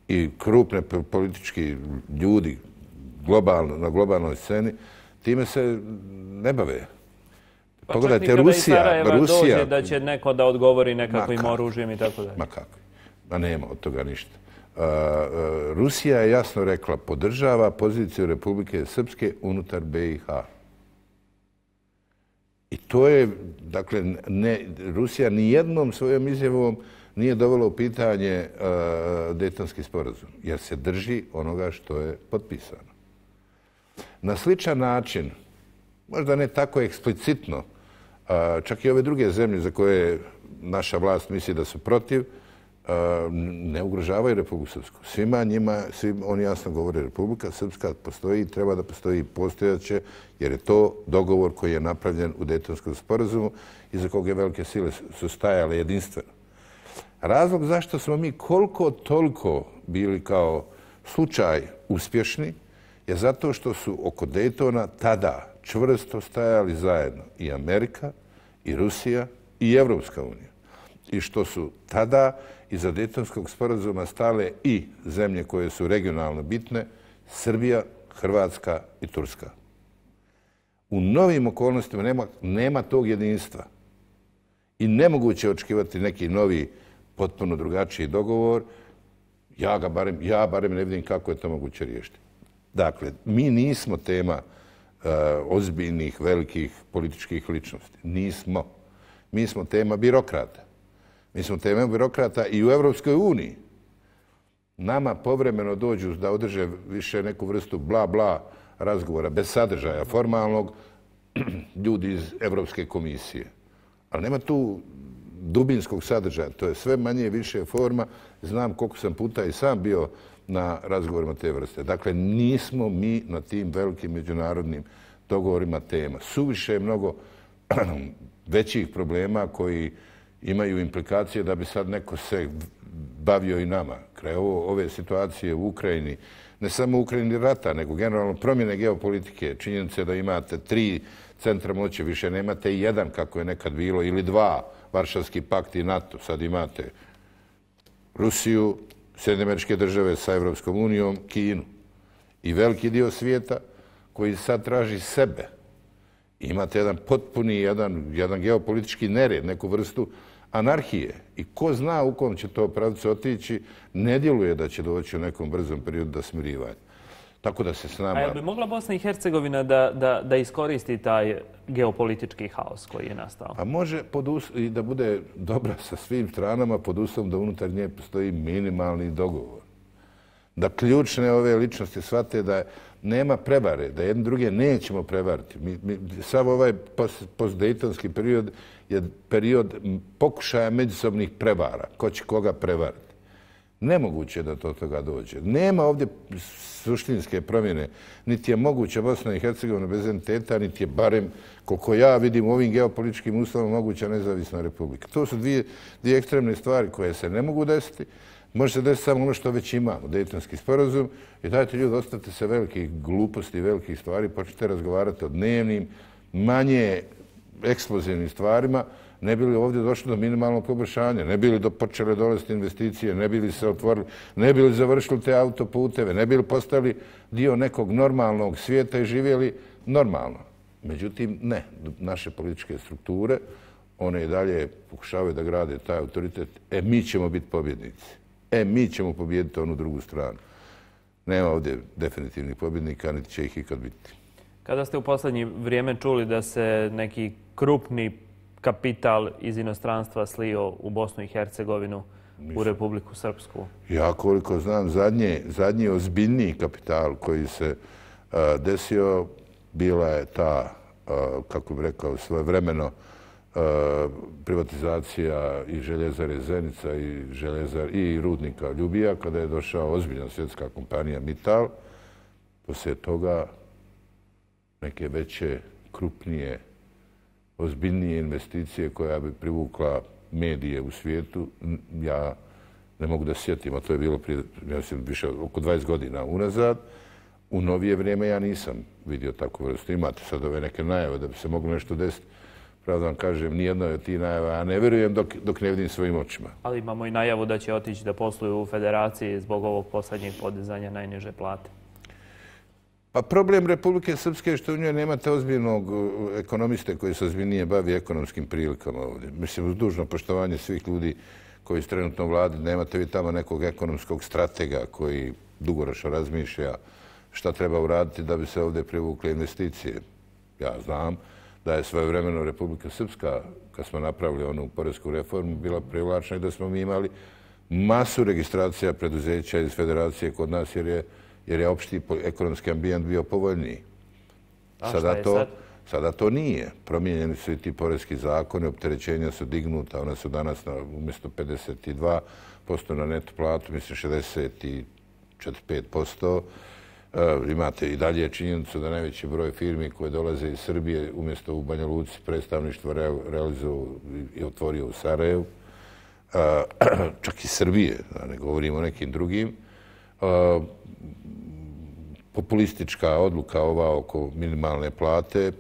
i krupne politički ljudi globalno, na globalnoj sceni time se ne bave. Pa Pogledajte, čak i kada iz Rusija, Sarajeva Rusija, dođe da će neko da odgovori nekakvim Ma oružjem i tako dalje. Ma kako? Ma nema od toga ništa. Uh, uh, Rusija je jasno rekla podržava poziciju Republike Srpske unutar B i H. I to je, dakle, ne, Rusija nijednom svojom izjavom nije dovela u pitanje uh, Dejtonski sporazum, jer se drži onoga što je potpisano. Na sličan način, možda ne tako eksplicitno, uh, čak i ove druge zemlje za koje naša vlast misli da su protiv, uh, ne ugrožavaju Republiku Srpsku. Svima njima, svim, oni jasno govore, Republika Srpska postoji i treba da postoji, postojaće, jer je to dogovor koji je napravljen u Dejtonskom sporazumu i za koga velike sile su stajale jedinstveno. Razlog zašto smo mi koliko toliko bili kao slučaj uspješni je zato što su oko Dejtona tada čvrsto stajali zajedno i Amerika, i Rusija, i Evropska unija. I što su tada iza Dejtonskog sporazuma stale i zemlje koje su regionalno bitne, Srbija, Hrvatska i Turska. U novim okolnostima nema, nema tog jedinstva. I nemoguće je očekivati neki novi, potpuno drugačiji dogovor. Ja ga barem, ja barem ne vidim kako je to moguće riješiti. Dakle, mi nismo tema uh, ozbiljnih, velikih političkih ličnosti. Nismo. Mi smo tema birokrata. Mi smo tema birokrata i u Evropskoj uniji. Nama povremeno dođu da održe više neku vrstu bla bla razgovora, bez sadržaja formalnog, ljudi iz Evropske komisije. Ali nema tu dubinskog sadržaja. To je sve manje i više forma. Znam koliko sam puta i sam bio na razgovorima te vrste. Dakle, nismo mi na tim velikim međunarodnim dogovorima tema. Suviše je mnogo većih problema koji imaju implikacije da bi sad neko se bavio i nama. Kraj ovo, ove situacije u Ukrajini, ne samo u Ukrajini rata, nego generalno promjene geopolitike, činjenice da imate tri centra moći, više nemate jedan kako je nekad bilo, ili dva, Varšavski pakt i NATO. Sad imate Rusiju, Sjedinjene Američke Države sa Evropskom unijom, Kinu i veliki dio svijeta koji sad traži sebe. Imate jedan potpuni, jedan, jedan geopolitički nered, neku vrstu anarhije. I ko zna u kom će to pravcu otići, ne djeluje da će doći u nekom brzom periodu do smirivanja. Tako da se s nama... A je bi mogla Bosna i Hercegovina da, da, da iskoristi taj geopolitički haos koji je nastao? Pa može i da bude dobra sa svim stranama pod uslovom da unutar nje postoji minimalni dogovor. Da ključne ove ličnosti shvate da nema prevare, da jedne druge nećemo prevariti. Mi, mi, samo ovaj postdejtonski period je period pokušaja međusobnih prevara. Ko će koga prevariti? Nemoguće je da do toga dođe. Nema ovdje suštinske promjene. Niti je moguće Bosna i Hercegovina bez entiteta, niti je barem, koliko ja vidim u ovim geopolitičkim uslovima, moguća nezavisna republika. To su dvije, dvije ekstremne stvari koje se ne mogu desiti. Može se desiti samo ono što već imamo, Dejtonski sporazum. I dajte ljudi, ostavite se velikih gluposti, velikih stvari, počnite razgovarati o dnevnim, manje eksplozivnim stvarima, ne bi li ovdje došlo do minimalnog poboljšanja, ne bi li do počele dolaziti investicije, ne bi li se otvorili, ne bi li završili te autoputeve, ne bi li postali dio nekog normalnog svijeta i živjeli normalno. Međutim, ne. Naše političke strukture, one i dalje pokušavaju da grade taj autoritet. E, mi ćemo biti pobjednici. E, mi ćemo pobijediti onu drugu stranu. Nema ovdje definitivnih pobjednika, niti će ih ikad biti. Kada ste u posljednje vrijeme čuli da se neki krupni kapital iz inostranstva slio u Bosnu i Hercegovinu, u Republiku Srpsku? Ja koliko znam, zadnje, zadnji ozbiljniji kapital koji se uh, desio bila je ta, uh, kako bih rekao, svojevremeno uh, privatizacija i željezare Zenica i, željezar, i rudnika Ljubija, kada je došao ozbiljna svjetska kompanija Mittal. Poslije toga neke veće, krupnije, ozbiljnije investicije koja bi privukla medije u svijetu, ja ne mogu da sjetim, a to je bilo prije, ja mislim, više oko dvadeset godina unazad. U novije vrijeme ja nisam vidio takvu vrstu. Imate sad ove neke najave da bi se moglo nešto desiti. Pravda vam kažem, nijedno od tih najava, ja ne vjerujem dok, dok ne vidim svojim očima. Ali imamo i najavu da će otići da posluju u federaciji zbog ovog posljednjeg podizanja najniže plate. Pa problem Republike Srpske je što u njoj nemate ozbiljnog ekonomiste koji se ozbiljnije bavi ekonomskim prilikama ovdje. Mislim, uz dužno poštovanje svih ljudi koji su trenutno u vladi, nemate vi tamo nekog ekonomskog stratega koji dugoročno razmišlja šta treba uraditi da bi se ovdje privukle investicije. Ja znam, da je svojevremeno Republika Srpska, kad smo napravili onu poresku reformu, bila privlačna i da smo mi imali masu registracija preduzeća iz federacije kod nas jer je, jer je opšti ekonomski ambijent bio povoljniji. A Sada šta je to, sad? Sada to nije. Promijenjeni su i ti poreski zakoni, opterećenja su dignuta, ona su danas na, umjesto pedeset dva posto na neto platu, mislim šezdeset četiri pet posto. Uh, imate i dalje činjenicu da najveći broj firmi koje dolaze iz Srbije umjesto u Banja Luci predstavništvo re, realizovao i otvorio u Sarajevu. Uh, čak i Srbije, da ne govorimo o nekim drugim. Uh, populistička odluka ova oko minimalne plate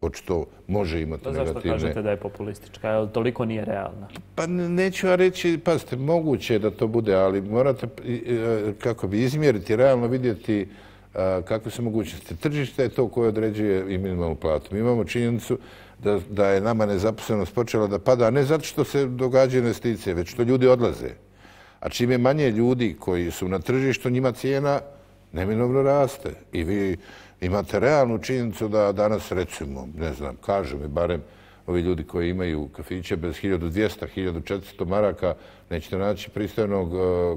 očito može imati to zašto negativne... kažete da je populistička? Jer toliko nije realna? Pa neću ja reći, pazite, moguće je da to bude, ali morate, kako bi izmjeriti, realno vidjeti kakve su mogućnosti. Tržište je to koje određuje i minimalnu platu. Mi imamo činjenicu da, da je nama nezaposlenost počela da pada, ne zato što se događaju investicije, već što ljudi odlaze. A čim je manje ljudi koji su na tržištu, njima cijena neminovno raste. I vi imate realnu činjenicu da danas, recimo, ne znam, kažu mi barem ovi ljudi koji imaju kafiće bez hiljadu dvjesto do hiljadu četiristo maraka, nećete naći pristojnog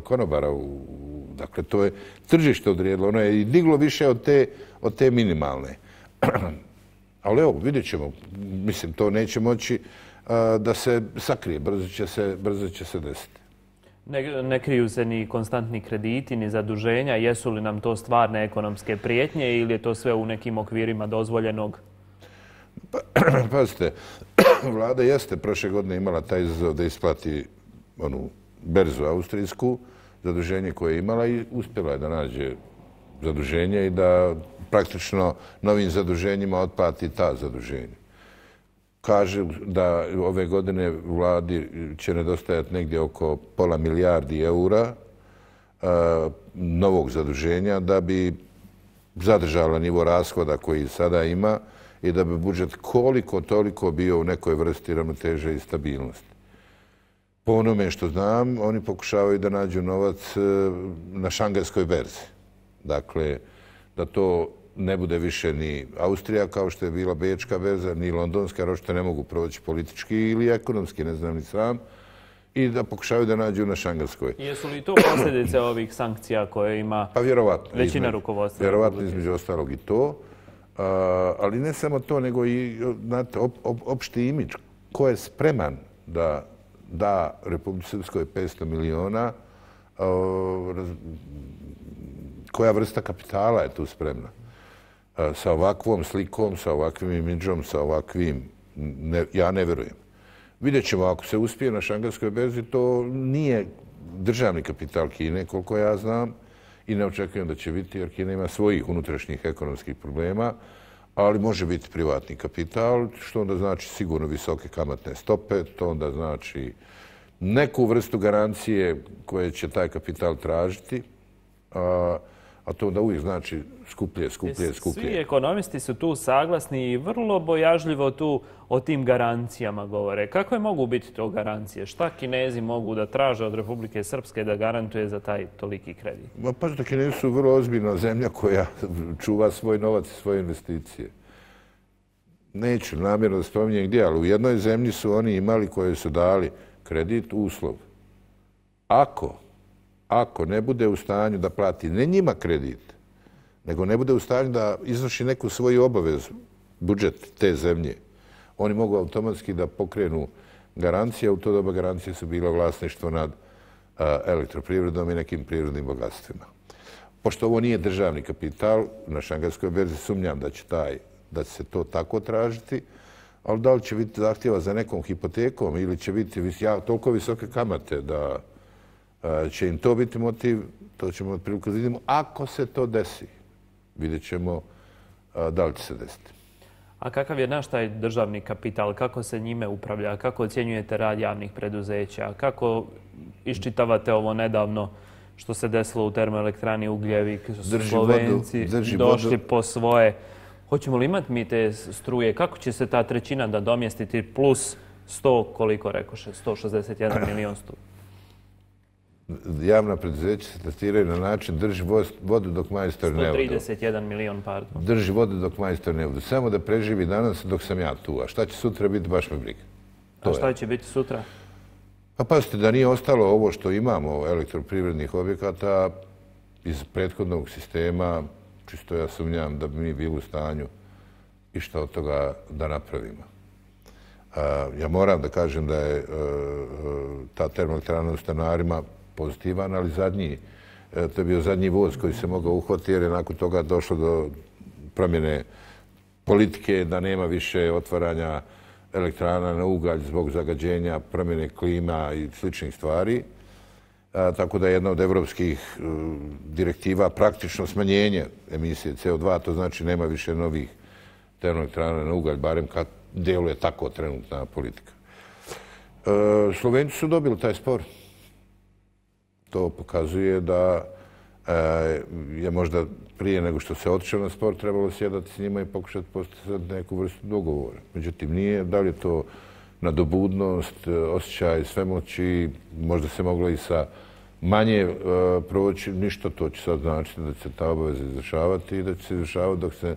konobara. U, dakle, to je tržište odrijedilo. Ono je i diglo više od te, od te minimalne. Ali evo, vidjet ćemo. Mislim, to neće moći da se sakrije. Brzo će se, brzo će se desiti. Ne, ne kriju se ni konstantni krediti, ni zaduženja. Jesu li nam to stvarne ekonomske prijetnje ili je to sve u nekim okvirima dozvoljenog? Pa, pazite, vlada jeste prošle godine imala taj izazov da isplati onu berzu austrijsku, zaduženje koje je imala i uspjela je da nađe zaduženje i da praktično novim zaduženjima otplati ta zaduženja. Kaže da ove godine vladi će nedostajati negdje oko pola milijardi eura a, novog zaduženja da bi zadržala nivo rashoda koji sada ima i da bi budžet koliko toliko bio u nekoj vrsti ravnoteže i stabilnosti. Po onome što znam, oni pokušavaju da nađu novac na šangajskoj berzi. Dakle, da to ne bude više ni Austrija kao što je bila bečka berza, ni londonska, jer očito ne mogu proći politički ili ekonomski, ne znam ni sam, i da pokušavaju da nađu na šangajskoj. Jesu li to posljedice ovih sankcija koje ima pa vjerovatno, većina izme, rukovodstva? Vjerovatno između ostalog i to. A, ali ne samo to, nego i znate, op, op, opšti imidž. Ko je spreman da da Republici Srpskoj petsto miliona, a, raz, koja vrsta kapitala je tu spremna? A, sa ovakvom slikom, sa ovakvim imidžom, sa ovakvim... Ne, ja ne vjerujem. Vidjet ćemo, ako se uspije na šangajskoj berzi, to nije državni kapital Kine, koliko ja znam, i ne očekujem da će biti, jer Kina ima svojih unutrašnjih ekonomskih problema, ali može biti privatni kapital, što onda znači sigurno visoke kamatne stope, to onda znači neku vrstu garancije koje će taj kapital tražiti, a, a to onda uvijek znači skuplje, skuplje, skuplje. Svi ekonomisti su tu saglasni i vrlo bojažljivo tu o tim garancijama govore. Kakve mogu biti to garancije? Šta Kinezi mogu da traže od Republike Srpske da garantuje za taj toliki kredit? Ma pa što Kinezi su vrlo ozbiljna zemlja koja čuva svoj novac i svoje investicije. Neću namjerno da spominjem gdje, ali u jednoj zemlji su oni imali koje su dali kredit uslov. Ako, ako ne bude u stanju da plati ne njima kredit, nego ne bude u stanju da izvrši neku svoju obavezu, budžet te zemlje, oni mogu automatski da pokrenu garancije, u to doba garancije su bila vlasništvo nad a, elektroprivredom i nekim prirodnim bogatstvima. Pošto ovo nije državni kapital, na šangajskoj berzi sumnjam da će, taj, da će se to tako tražiti, ali da li će biti zahtjeva za nekom hipotekom ili će biti vis, ja, toliko visoke kamate da a, će im to biti motiv, to ćemo otprilike vidimo. Ako se to desi, vidjet ćemo a, da li će se desiti. A kakav je naš taj državni kapital? Kako se njime upravlja? Kako ocjenjujete rad javnih preduzeća? Kako iščitavate ovo nedavno što se desilo u termoelektrani Ugljevik? Slovenci došli po svoje. Hoćemo li imati mi te struje? Kako će se ta trećina da domjestiti plus sto, koliko rekoše, sto šezdeset jedan milion sto? javna preduzeća se testiraju na način drži vodu dok majstor ne odu. sto trideset jedan milion, pardon. Drži vodu dok majstor ne odu. Samo da preživi danas dok sam ja tu. A šta će sutra biti, baš me briga. A šta će biti sutra? Pa pazite, da nije ostalo ovo što imamo elektroprivrednih objekata iz prethodnog sistema, čisto ja sumnjam da bi mi bili u stanju i što od toga da napravimo. Ja moram da kažem da je ta termoelektrana u Stanarima pozitivan, ali zadnji, to je bio zadnji voz koji se mogao uhvatiti jer je nakon toga došlo do promjene politike da nema više otvaranja elektrana na ugalj zbog zagađenja, promjene klima i sličnih stvari. Tako da je jedna od evropskih direktiva praktično smanjenje emisije C O dva, to znači nema više novih termoelektrana na ugalj, barem kad deluje tako trenutna politika. Slovenci su dobili taj spor. To pokazuje da je možda prije nego što se otišao na spor trebalo sjedati s njima i pokušati postati neku vrstu dogovora. Međutim, nije. Da li je to nadobudnost, osjećaj svemoći, možda se moglo i sa manje proći, ništa, to će sad značiti da će se ta obaveza izvršavati i da će se izvršavati dok se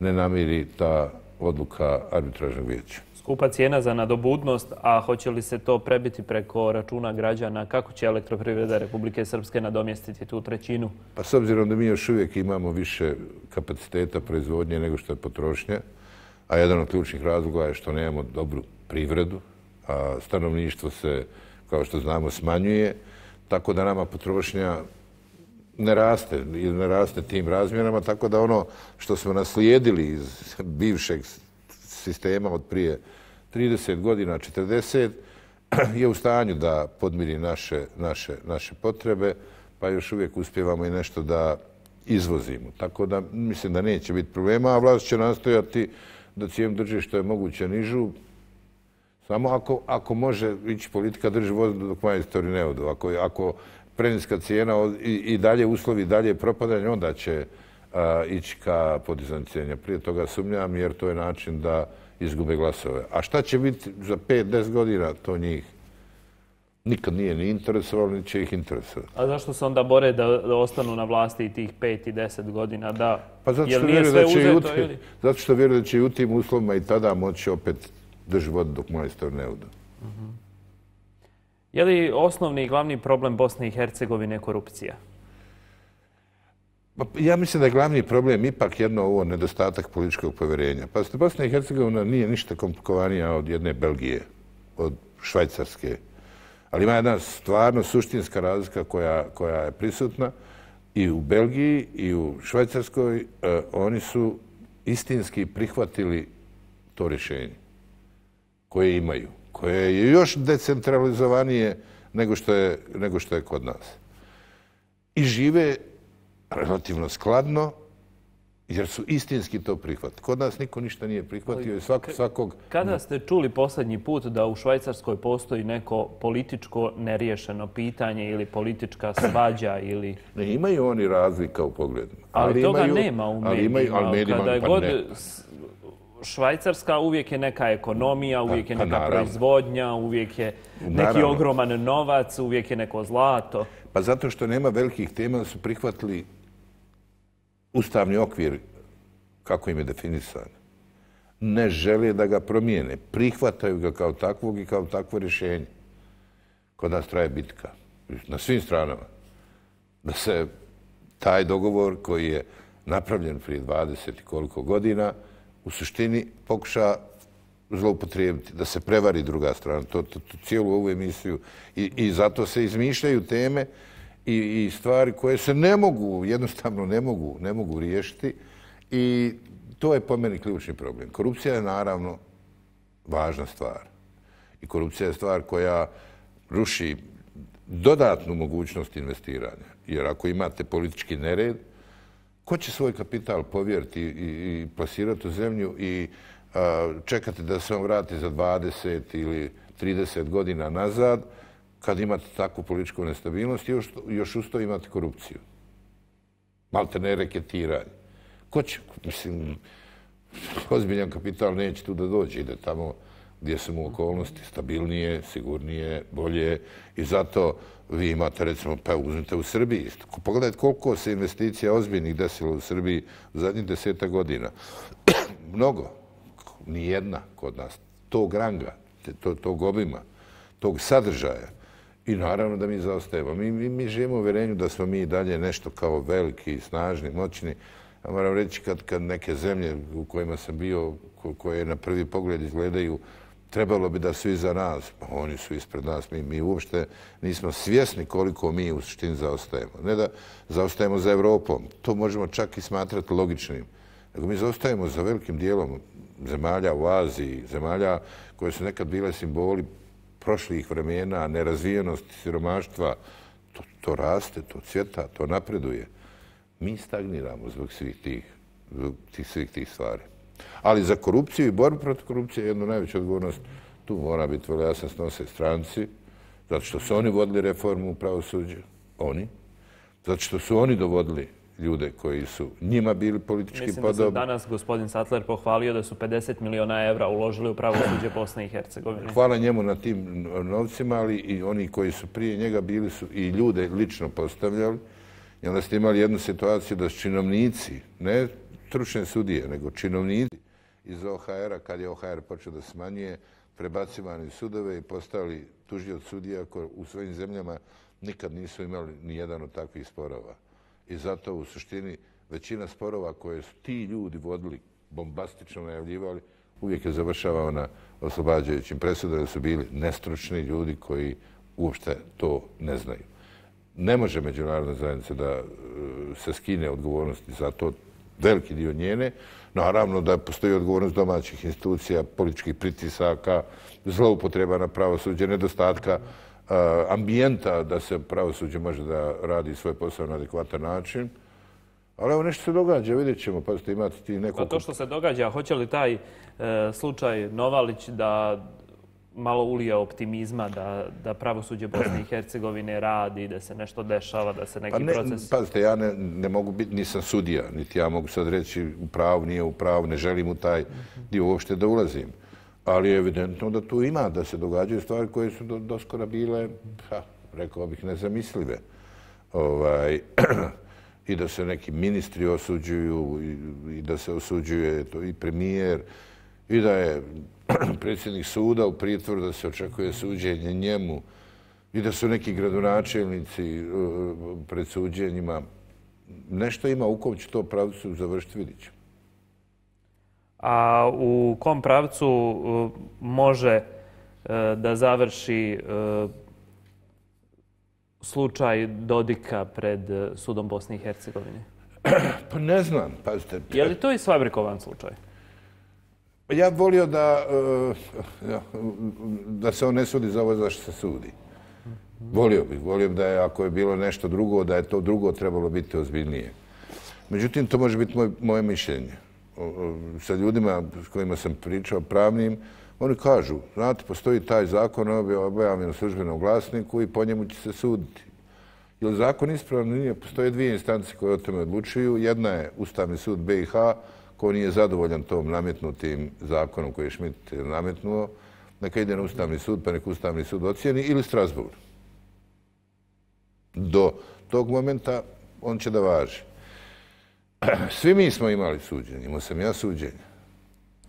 ne namiri ta odluka arbitražnog vijeća. Skupa cijena za nadobudnost, a hoće li se to prebiti preko računa građana? Kako će Elektroprivreda Republike Srpske nadomjestiti tu trećinu? Pa s obzirom da mi još uvijek imamo više kapaciteta proizvodnje nego što je potrošnja, a jedan od ključnih razloga je što nemamo dobru privredu, a stanovništvo se, kao što znamo, smanjuje, tako da nama potrošnja ne raste ili ne raste tim razmjerama, tako da ono što smo naslijedili iz bivšeg sistema od prije trideset godina, četrdeset, je u stanju da podmiri naše, naše, naše potrebe, pa još uvijek uspijevamo i nešto da izvozimo. Tako da mislim da neće biti problema, a vlast će nastojati da cijenu drži što je moguće nižu, samo ako, ako može ići politika drži vodu dok majstori ne odu. Ako, ako preniska cijena i, i dalje uslovi, dalje propadanje, onda će a, ići ka podizanju cijena. Prije toga sumnjam jer to je način da izgube glasove. A šta će biti za pet do deset godina, to njih nikad nije ni interesovalo, ni će ih interesovati. A zašto se onda bore da, da ostanu na vlasti i tih pet i deset godina? Da, pa zato što vjeruju da će uzeto, utim, ili? Zato što vjeruju da će i u tim uslovima i tada moći opet drži vodu dok majstor ne odu. Uh-huh. Je li osnovni i glavni problem Bosne i Hercegovine korupcija? Ja mislim da je glavni problem ipak jedno ovo nedostatak političkog povjerenja. Pa Bosna i Hercegovina nije ništa komplikovanija od jedne Belgije, od Švajcarske. Ali ima jedna stvarno suštinska razlika koja, koja je prisutna i u Belgiji i u Švajcarskoj. Eh, oni su istinski prihvatili to rješenje koje imaju, koje je još decentralizovanije nego što je, nego što je kod nas. I žive relativno skladno, jer su istinski to prihvatili. Kod nas niko ništa nije prihvatio i svak, svakog... Kada ste čuli posljednji put da u Švajcarskoj postoji neko političko neriješeno pitanje ili politička svađa ili... Ne, imaju oni razlika u pogledima. Ali, ali toga imaju, nema u medijima. Ali imaju, ali medijima Kada je pa god ne. Švajcarska uvijek je neka ekonomija, uvijek je pa, neka naravno. proizvodnja, uvijek je neki naravno. ogroman novac, uvijek je neko zlato. Pa zato što nema velikih tema da su prihvatili ustavni okvir kako im je definisan. Ne žele da ga promijene. Prihvataju ga kao takvog i kao takvo rješenje. Kod nas traje bitka. Na svim stranama. Da se taj dogovor koji je napravljen prije dvadeset i koliko godina u suštini pokuša zloupotrijebiti, da se prevari druga strana. To, to, to cijelu ovu emisiju. I, i zato se izmišljaju teme i, i stvari koje se ne mogu, jednostavno ne mogu, ne mogu riješiti. I to je po meni ključni problem. Korupcija je naravno važna stvar. I korupcija je stvar koja ruši dodatnu mogućnost investiranja. Jer ako imate politički nered, ko će svoj kapital povjeriti i, i plasirati u zemlju i a, čekati da se on vrati za dvadeset ili trideset godina nazad, kad imate takvu političku nestabilnost i još, još uz to imate korupciju. Malte ne reketiranje. Ko će, mislim, ozbiljan kapital neće tu da dođe, ide tamo gdje su mu okolnosti stabilnije, sigurnije, bolje i zato vi imate, recimo, pa uzmite u Srbiji. Pogledajte koliko se investicija ozbiljnih desilo u Srbiji u zadnjih deseta godina. Mnogo. Nijedna kod nas. Tog ranga, tog obima, tog sadržaja. I naravno da mi zaostajemo. Mi, mi, mi živimo u uvjerenju da smo mi dalje nešto kao veliki, snažni, moćni. Ja moram reći kad, kad neke zemlje u kojima sam bio, ko, koje na prvi pogled izgledaju, trebalo bi da su iza nas. Oni su ispred nas. Mi, mi uopšte nismo svjesni koliko mi u suštini zaostajemo. Ne da zaostajemo za Evropom. To možemo čak i smatrati logičnim. Nego mi zaostajemo za velikim dijelom zemalja u Aziji, zemalja koje su nekad bile simboli prošlih vremena, nerazvijenosti, siromaštva. To, to raste, to cvjeta, to napreduje. Mi stagniramo zbog svih tih, zbog tih, svih tih stvari. Ali za korupciju i borbu protiv korupcije jednu najveću odgovornost tu mora biti vrlo jasno snose stranci, zato što su oni vodili reformu u pravosuđu, oni, zato što su oni dovodili ljude koji su njima bili politički podobni. Mislim da se danas gospodin Sattler pohvalio da su pedeset miliona evra uložili u pravosuđe Bosne i Hercegovine. Hvala njemu na tim novcima, ali i oni koji su prije njega bili su i ljude lično postavljali. I onda ste imali jednu situaciju da su činovnici, ne stručne sudije, nego činovnici iz O H R-a, kad je O H R počeo da smanjuje, prebacivani sudove i postali tužioci sudija koji u svojim zemljama nikad nisu imali ni jedan od takvih sporova. I zato u suštini većina sporova koje su ti ljudi vodili, bombastično najavljivali, uvijek je završavao na oslobađajućim presudama, da su bili nestručni ljudi koji uopšte to ne znaju. Ne može međunarodna zajednica da se skine odgovornosti za to, veliki dio njene. Naravno da postoji odgovornost domaćih institucija, političkih pritisaka, zloupotreba na pravosuđe, nedostatka ambijenta da se pravosuđe može da radi svoj posao na adekvatan način. Ali evo nešto se događa, vidjet ćemo, pa ste imati ti nekoliko... Pa to što se događa, hoće li taj e, slučaj Novalić da malo ulije optimizma, da, da pravosuđe Bosne i Hercegovine radi, da se nešto dešava, da se neki pa ne, proces... Pazite, ja ne, ne mogu biti, nisam sudija, niti ja mogu sad reći u pravu, nije u pravu, ne želim u taj dio uopšte da ulazim. Ali je evidentno da tu ima, da se događaju stvari koje su do, doskora bile, ha, rekao bih, nezamislive. Ovaj, I da se neki ministri osuđuju, i, i da se osuđuje to i premijer, i da je predsjednik suda u pritvoru, da se očekuje suđenje njemu, i da su neki gradonačelnici pred suđenjima. Nešto ima u kom će to pravcu završiti, vidit ćemo. A u kom pravcu uh, može uh, da završi uh, slučaj Dodika pred uh, sudom Bosne i Hercegovine? Pa ne znam, pazite. Je li to i sfabrikovan slučaj? Ja volio da, uh, da se on ne sudi za ovo za što se sudi. Volio bih, volio bih da je, ako je bilo nešto drugo, da je to drugo trebalo biti ozbiljnije. Međutim, to može biti moj, moje mišljenje. Sa ljudima s kojima sam pričao pravnim, oni kažu, znate, postoji taj zakon objavljen u službenom glasniku i po njemu će se suditi. Je li zakon ispravno? Nije. Postoje dvije instance koje o tome odlučuju. Jedna je Ustavni sud B i H, koji nije zadovoljan tom nametnutim zakonom koji je Schmidt nametnuo. Neka ide na Ustavni sud, pa neka Ustavni sud ocijeni, ili Strasbourg. Do tog momenta on će da važi. Svi mi smo imali suđenje, imao sam ja suđenje.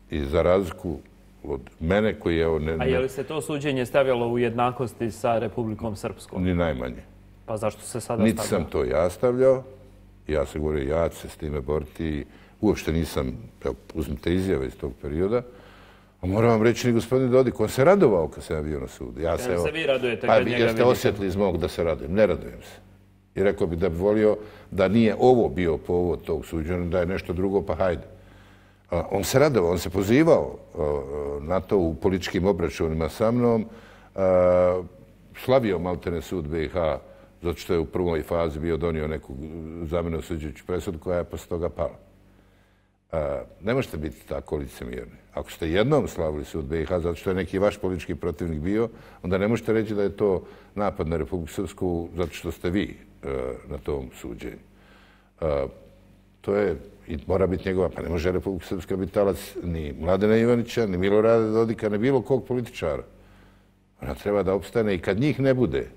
I za razliku od mene koji je... Ne, A je li se to suđenje stavljalo u jednakosti sa Republikom Srpskom? Ni najmanje. Pa zašto se sada Niti stavljalo? sam to ja stavljao. Ja se govorio, ja ću se s time boriti. Uopšte nisam, evo, uzmite izjave iz tog perioda. A moram vam reći, ni gospodin Dodik, on se radovao kad sam ja bio na sudu. Ja se, Jel se vi radujete kad njega vidite? Jeste osjetili iz mog da se radujem? Ne radujem se. I rekao bi da bi volio da nije ovo bio povod tog suđenja, da je nešto drugo, pa hajde. On se radovao, on se pozivao na to u političkim obračunima sa mnom. Slavio maltene sud B i H, zato što je u prvoj fazi bio donio neku za mene osuđujuću presudu koja je posle toga pala. Ne možete biti tako licemjerni. Ako ste jednom slavili sud B i H, zato što je neki vaš politički protivnik bio, onda ne možete reći da je to napad na Republiku Srpsku zato što ste vi na tom suđenju. To je, i mora biti njegova, pa ne može Republika Srpska biti talac ni Mladena Ivanića, ni Milorada Dodika, ni bilo kog političara. Ona treba da opstane i kad njih ne bude.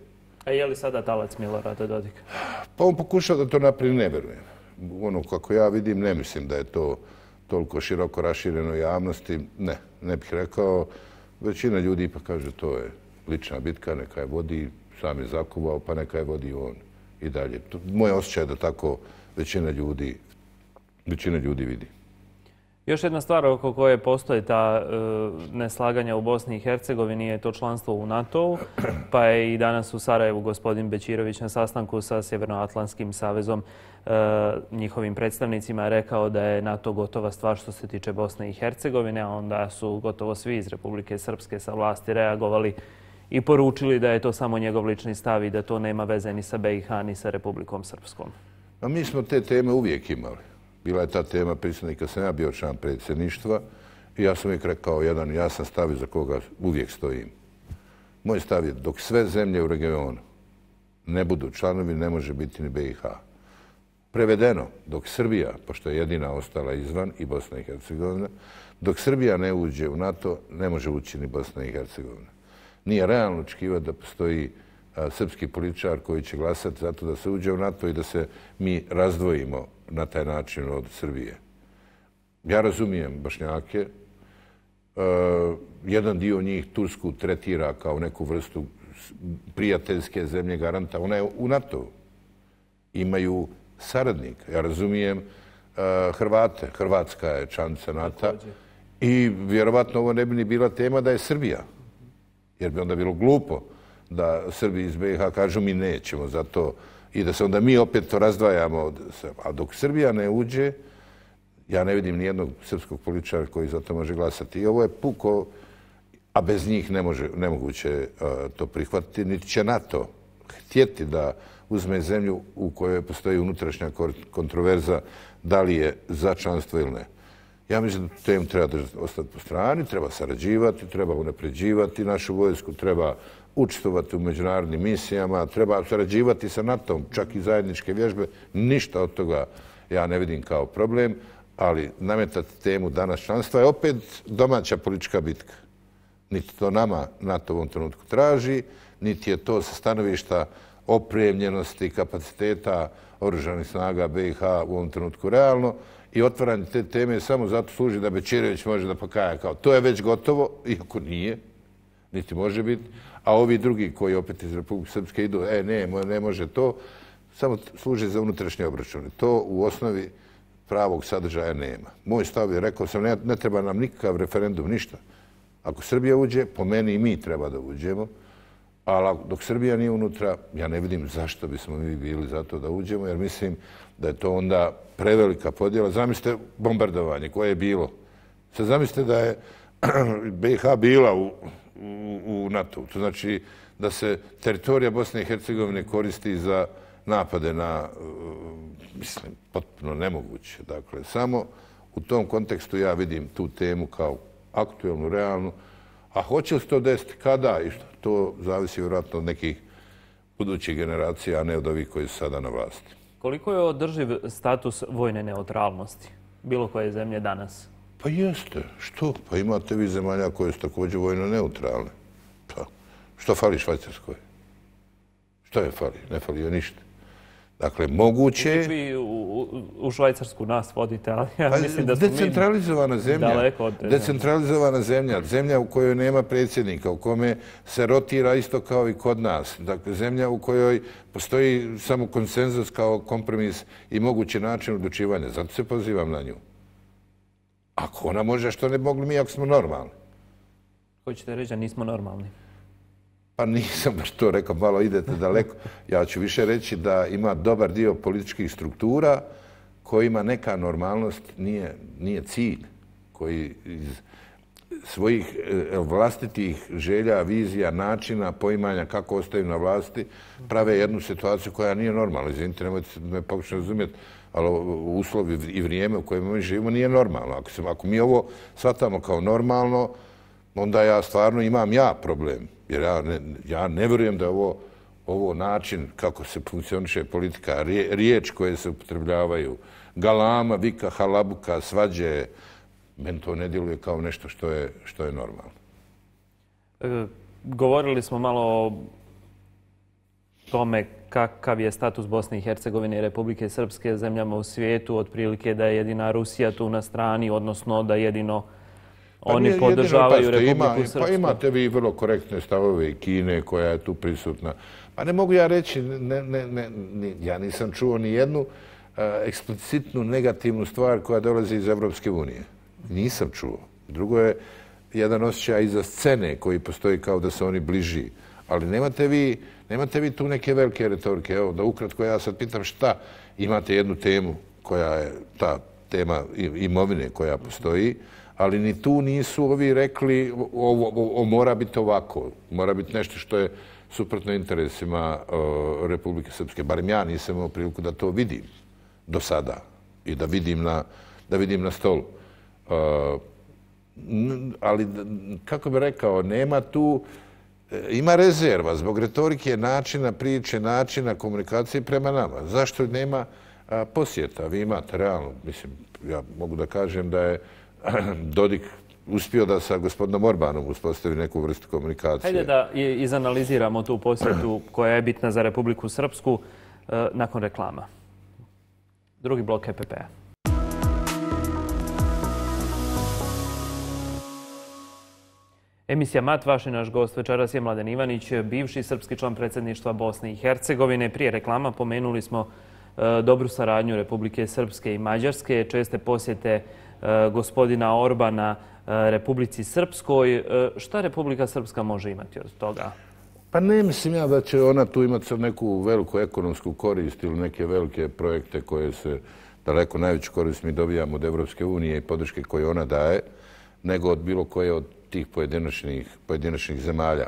A je li sada talac Milorada Dodika? Pa on pokušao da to napravi, ne verujem. Ono, kako ja vidim, ne mislim da je to toliko široko rašireno javnosti. Ne, ne bih rekao. Većina ljudi pa kaže to je lična bitka, neka je vodi, sam je zakuvao, pa neka je vodi on i dalje. Moje osjećaj je da tako većina ljudi, većina ljudi vidi. Još jedna stvar oko koje postoje ta e, neslaganja u Bosni i Hercegovini je to članstvo u NATO-u, pa je i danas u Sarajevu gospodin Bećirović na sastanku sa Sjevernoatlantskim savezom e, njihovim predstavnicima rekao da je NATO gotova stvar što se tiče Bosne i Hercegovine, a onda su gotovo svi iz Republike Srpske sa vlasti reagovali i poručili da je to samo njegov lični stav i da to nema veze ni sa B i H ni sa Republikom Srpskom. A mi smo te teme uvijek imali. Bila je ta tema prisutna i kad sam ja bio član predsjedništva i ja sam uvijek rekao jedan jasan stav za koga uvijek stojim. Moj stav je dok sve zemlje u regionu ne budu članovi, ne može biti ni B i H. Prevedeno, dok Srbija, pošto je jedina ostala izvan i Bosna i Hercegovina, dok Srbija ne uđe u NATO, ne može ući ni Bosna i Hercegovina. Nije realno očekivati da postoji a, srpski političar koji će glasati zato da se uđe u NATO i da se mi razdvojimo na taj način od Srbije. Ja razumijem Bošnjake. E, jedan dio njih Tursku tretira kao neku vrstu prijateljske zemlje garanta. Ona je u NATO. Imaju saradnika. Ja razumijem e, Hrvate. Hrvatska je članica NATO. I vjerovatno ovo ne bi ni bila tema da je Srbija. Jer bi onda bilo glupo da Srbi iz B i H kažu mi nećemo za to i da se onda mi opet to razdvajamo. A dok Srbija ne uđe, ja ne vidim nijednog srpskog političara koji za to može glasati. I ovo je puko, a bez njih ne može, nemoguće uh, to prihvatiti, niti će NATO htjeti da uzme zemlju u kojoj postoji unutrašnja kontroverza da li je za članstvo ili ne. Ja mislim da temu treba ostati po strani, treba sarađivati, treba unapređivati našu vojsku, treba učestvovati u međunarodnim misijama, treba sarađivati sa NATO-om, čak i zajedničke vježbe. Ništa od toga ja ne vidim kao problem, ali nametati temu danas članstva je opet domaća politička bitka. Niti to nama NATO u ovom trenutku traži, niti je to sa stanovišta opremljenosti kapaciteta oružanih snaga B i H u ovom trenutku realno. I otvaranje te teme samo zato služi da Bećirović može da pokaja kao to je već gotovo, iako nije, niti može biti. A ovi drugi koji opet iz Republike Srpske idu, e ne, ne može to, samo služi za unutrašnje obračune. To u osnovi pravog sadržaja nema. Moj stav je, rekao sam, ne, ne treba nam nikakav referendum, ništa. Ako Srbija uđe, po meni i mi treba da uđemo, ali dok Srbija nije unutra, ja ne vidim zašto bismo mi bili za to da uđemo, jer mislim da je to onda prevelika podjela. Zamislite bombardovanje koje je bilo. Sad zamislite da je B i H bila u, u, u NATO. To znači da se teritorija Bosne i Hercegovine koristi za napade na, mislim, potpuno nemoguće. Dakle, samo u tom kontekstu ja vidim tu temu kao aktuelnu, realnu. A hoće li se to desiti kada i što? To zavisi vjerojatno od nekih budućih generacija, a ne od ovih koji su sada na vlasti. Koliko je održiv status vojne neutralnosti bilo koje zemlje danas? Pa jeste. Što? Pa imate vi zemalja koje su također vojno neutralne. Pa, što fali Švajcarskoj? Što je fali? Ne fali joj ništa. Dakle, moguće je... Vi u, u, u Švajcarsku nas vodite, ali ja pa, mislim da smo decentralizovana zemlja. Daleko od te decentralizovana zemlja. Zemlja u kojoj nema predsjednika, u kome se rotira isto kao i kod nas. Dakle, zemlja u kojoj postoji samo konsenzus kao kompromis i mogući način odlučivanja. Zato se pozivam na nju. Ako ona može, što ne mogli mi ako smo normalni? Hoćete reći da nismo normalni? Pa nisam baš to rekao, malo idete daleko. Ja ću više reći da ima dobar dio političkih struktura kojima neka normalnost nije, nije cilj, koji iz svojih vlastitih želja, vizija, načina, poimanja kako ostaju na vlasti, prave jednu situaciju koja nije normalna. Izvinite, nemojte me pokušati razumjeti, ali uslovi i vrijeme u kojima mi živimo nije normalno. Ako, se, ako mi ovo shvatamo kao normalno, onda ja stvarno imam ja problem. Jer ja ne, ja ne vjerujem da je ovo ovo način kako se funkcioniše politika, riječ koje se upotrebljavaju, galama, vika, halabuka, svađe, meni to ne djeluje kao nešto što je, što je normalno. E, govorili smo malo o tome kakav je status Bosne i Hercegovine i Republike Srpske zemljama u svijetu, otprilike da je jedina Rusija tu na strani, odnosno da jedino oni pa podržavaju jedino, Republiku ima, Srpsku. Pa imate vi vrlo korektne stavove i Kine koja je tu prisutna. Pa ne mogu ja reći, ne, ne, ne, ne, ja nisam čuo ni jednu uh, eksplicitnu negativnu stvar koja dolazi iz Evropske unije. Nisam čuo. Drugo je jedan osjećaj iza scene koji postoji kao da se oni bliži. Ali nemate vi, nemate vi tu neke velike retorike. Evo, da ukratko ja sad pitam šta, imate jednu temu koja je ta tema imovine koja postoji, ali ni tu nisu ovi rekli ovo, ovo mora biti ovako, mora biti nešto što je suprotno interesima uh, Republike Srpske. Barem ja nisam imao priliku da to vidim do sada i da vidim na, da vidim na stolu. Uh, ali, kako bih rekao, nema tu, ima rezerva zbog retorike, načina priče, načina komunikacije prema nama. Zašto nema a, posjeta? Vi imate realno, mislim, ja mogu da kažem da je Dodik uspio da sa gospodinom Orbanom uspostavi neku vrstu komunikacije. Hajde da izanaliziramo tu posjetu koja je bitna za Republiku Srpsku nakon reklama. Drugi blok E P P-a. Emisija Mat, vaš i naš gost večeras je Mladen Ivanić, bivši srpski član predsjedništva Bosne i Hercegovine. Prije reklama pomenuli smo e, dobru saradnju Republike Srpske i Mađarske, česte posjete e, gospodina Orbana e, Republici Srpskoj. E, šta Republika Srpska može imati od toga? Pa ne mislim ja da će ona tu imati sad neku veliku ekonomsku korist ili neke velike projekte koje se daleko najveću korist mi dobijamo od Evropske unije i podrške koje ona daje, nego od bilo koje od tih pojedinačnih, pojedinačnih zemalja.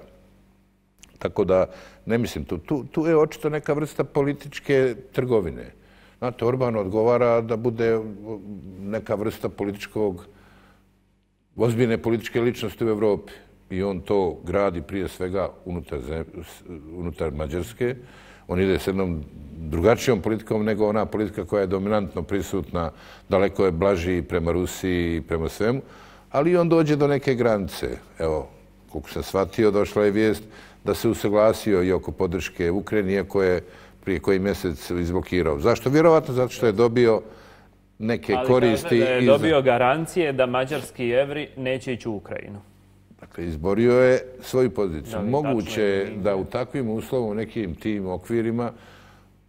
Tako da, ne mislim, tu, tu, tu je očito neka vrsta političke trgovine. Znate, Orban odgovara da bude neka vrsta političkog, ozbiljne političke ličnosti u Evropi. I on to gradi prije svega unutar, unutar Mađarske. On ide s jednom drugačijom politikom nego ona politika koja je dominantno prisutna, daleko je blaži prema Rusiji i prema svemu. Ali on dođe do neke granice. Evo, koliko sam shvatio, došla je vijest da se usaglasio i oko podrške Ukrajini, iako je prije koji mjesec izblokirao. Zašto? Vjerovatno zato što je dobio neke ali koristi. Ali kaže da je dobio iz... garancije da mađarski evri neće ići u Ukrajinu. Dakle, izborio je svoju poziciju. Da, moguće je da u takvim uslovom, nekim tim okvirima,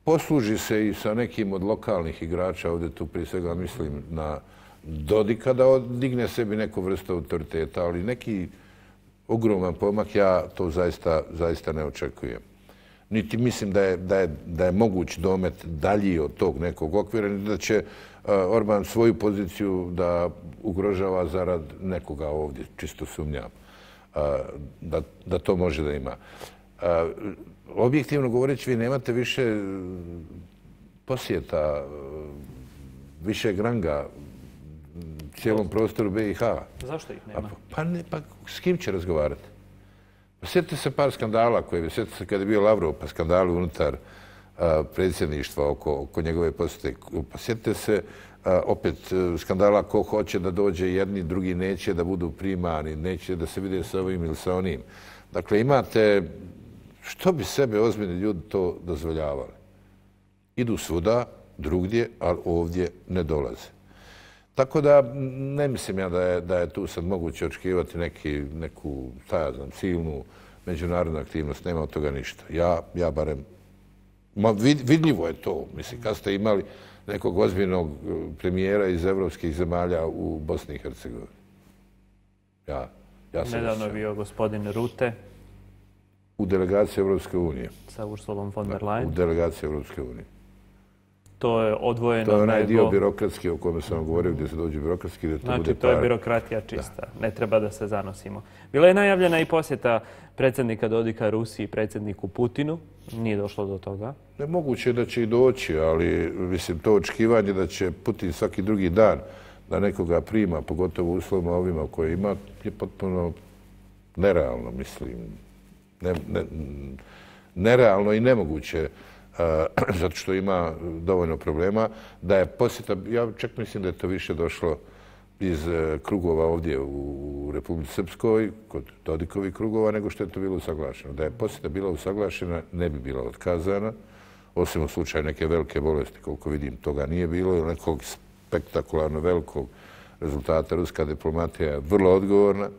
posluži se i sa nekim od lokalnih igrača, ovdje tu prije svega mislim na Dodika, da digne sebi neku vrstu autoriteta, ali neki ogroman pomak ja to zaista, zaista ne očekujem. Niti mislim da je, da je, da je moguć domet dalji od tog nekog okvira, niti da će Orban svoju poziciju da ugrožava zarad nekoga ovdje, čisto sumnjam, da, da to može da ima. Objektivno govoreći, vi nemate više posjeta, više granga cijelom prostoru B i H. Zašto ih nema? Pa, ne, pa s kim će razgovarati? Pa sjetite se par skandala koje, sjetite se kada je bio Lavrov, pa skandali unutar a, predsjedništva oko, oko njegove posjete. Pa sjetite se a, opet skandala ko hoće da dođe jedni, drugi neće da budu primani, neće da se vide sa ovim ili sa onim. Dakle, imate, što bi sebe ozbiljni ljudi to dozvoljavali? Idu svuda, drugdje, ali ovdje ne dolaze. Tako da ne mislim ja da je, da je tu sad moguće očekivati neki, neku, šta ja znam, silnu međunarodnu aktivnost. Nema od toga ništa. Ja, ja barem, ma vid, vidljivo je to. Mislim, kad ste imali nekog ozbiljnog premijera iz evropskih zemalja u Bosni i Hercegovini. Ja, ja sam Nedavno je bio gospodin Rute. U delegaciji Evropske unije. Sa Ursulom von der Leyen. U delegaciji Evropske unije. To je odvojeno. To je onaj nego... dio birokratski o kome sam vam govorio, gdje se dođe birokratski. Gdje to znači, bude to je birokratija čista. Da. Ne treba da se zanosimo. Bila je najavljena i posjeta predsjednika Dodika Rusiji, predsjedniku Putinu. Nije došlo do toga. Nemoguće je da će i doći, ali mislim, to očekivanje da će Putin svaki drugi dan da nekoga prima, pogotovo u uslovima ovima koje ima, je potpuno nerealno, mislim. Ne, ne, nerealno i nemoguće, zato što ima dovoljno problema, da je posjeta, ja čak mislim da je to više došlo iz krugova ovdje u Republici Srpskoj, kod Dodikovih krugova, nego što je to bilo usaglašeno. Da je posjeta bila usaglašena, ne bi bila otkazana, osim u slučaju neke velike bolesti, koliko vidim, toga nije bilo, ili nekog spektakularno velikog rezultata. Ruska diplomatija je vrlo odgovorna.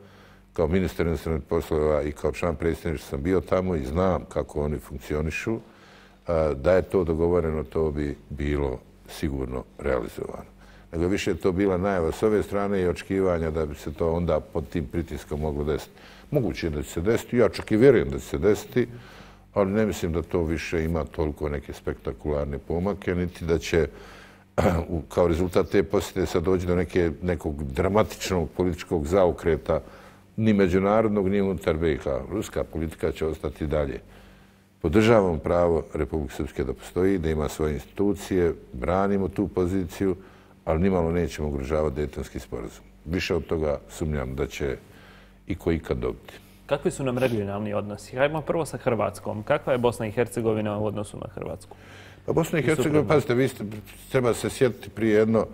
Kao ministar inostranih poslova i kao član predsjedništva sam bio tamo i znam kako oni funkcionišu. Da je to dogovoreno, to bi bilo sigurno realizovano. Nego više je to bila najava s ove strane i očekivanja da bi se to onda pod tim pritiskom moglo desiti. Moguće je da će se desiti, ja čak i vjerujem da će se desiti, ali ne mislim da to više ima toliko neke spektakularne pomake, niti da će kao rezultat te posjete sad doći do neke, nekog dramatičnog političkog zaokreta, ni međunarodnog, ni unutar B i H. Ruska politika će ostati dalje. Podržavamo pravo Republike Srpske da postoji, da ima svoje institucije, branimo tu poziciju, ali nimalo nećemo ugrožavati Dejtonski sporazum. Više od toga sumnjam da će i ko ikad dobiti. Kakvi su nam regionalni odnosi? Hajmo prvo sa Hrvatskom. Kakva je Bosna i Hercegovina u odnosu na Hrvatsku? Pa Bosna i Hercegovina, pazite, vi ste, treba se sjetiti prije jedno,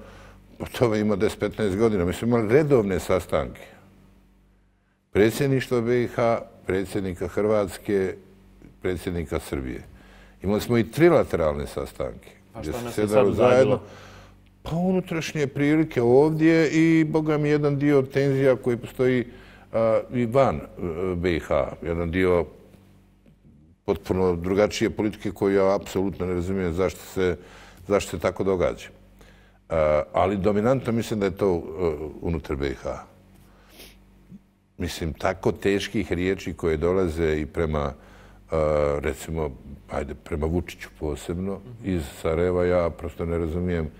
to ima deset do petnaest godina, mi smo imali redovne sastanke. Predsjedništvo B i H, predsjednika Hrvatske, predsjednika Srbije. Imali smo i trilateralne sastanke. Pa što nas je sad uzadilo? Pa unutrašnje prilike ovdje i, boga mi, jedan dio tenzija koji postoji i van B i H. Jedan dio potpuno drugačije politike koju ja apsolutno ne razumijem zašto se, zašto se tako događa. Ali dominantno mislim da je to unutar B i H. Mislim, tako teških riječi koje dolaze i prema, recimo, ajde, prema Vučiću posebno, iz Sarajeva, ja prosto ne razumijem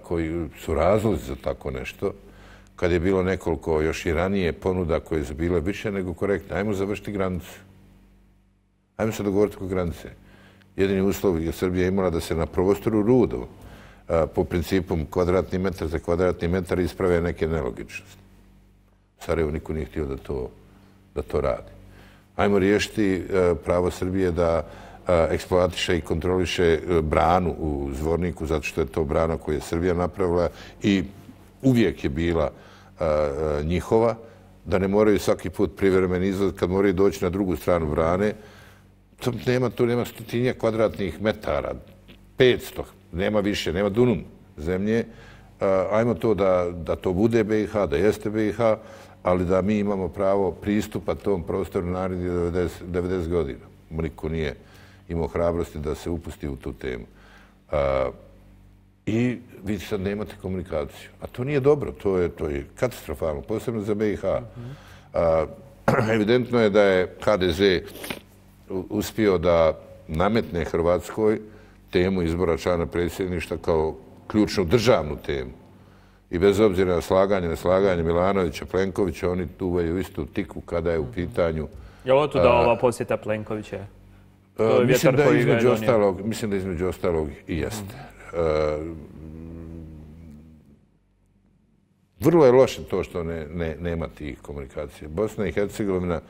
koji su razlozi za tako nešto. Kad je bilo nekoliko još i ranije ponuda koje su bile više nego korektne, ajmo završiti granicu. Ajmo se dogovoriti oko granice. Jedini uslov je Srbija imala da se na prostoru Rudo po principu kvadratni metar za kvadratni metar isprave neke nelogičnosti. Sarajevo niko nije htio da to, da to radi. Ajmo riješiti pravo Srbije da eksploatiše i kontroliše branu u Zvorniku, zato što je to brana koju je Srbija napravila i uvijek je bila njihova, da ne moraju svaki put privremeni izlaz kad moraju doći na drugu stranu brane. To nema, tu nema stotinja kvadratnih metara, petsto, nema više, nema dunum zemlje. Ajmo to da, da to bude B i H, da jeste B i H, ali da mi imamo pravo pristupa tom prostoru narednih devedeset godina. Niko nije imao hrabrosti da se upusti u tu temu. I vi sad nemate komunikaciju. A to nije dobro, to je, to je katastrofalno, posebno za B i H. Evidentno je da je H D Z uspio da nametne Hrvatskoj temu izbora člana predsjedništva kao ključnu državnu temu. I bez obzira na slaganje, na slaganje Milanovića, Plenkovića, oni duvaju istu tikvu kada je u pitanju... Je li to da ova posjeta Plenkovića? To je mislim, vjetar da koji ga je između donio. ostalog, mislim da između ostalog i jeste. Uh, vrlo je loše to što ne, ne, nema tih komunikacija. Bosna i Hercegovina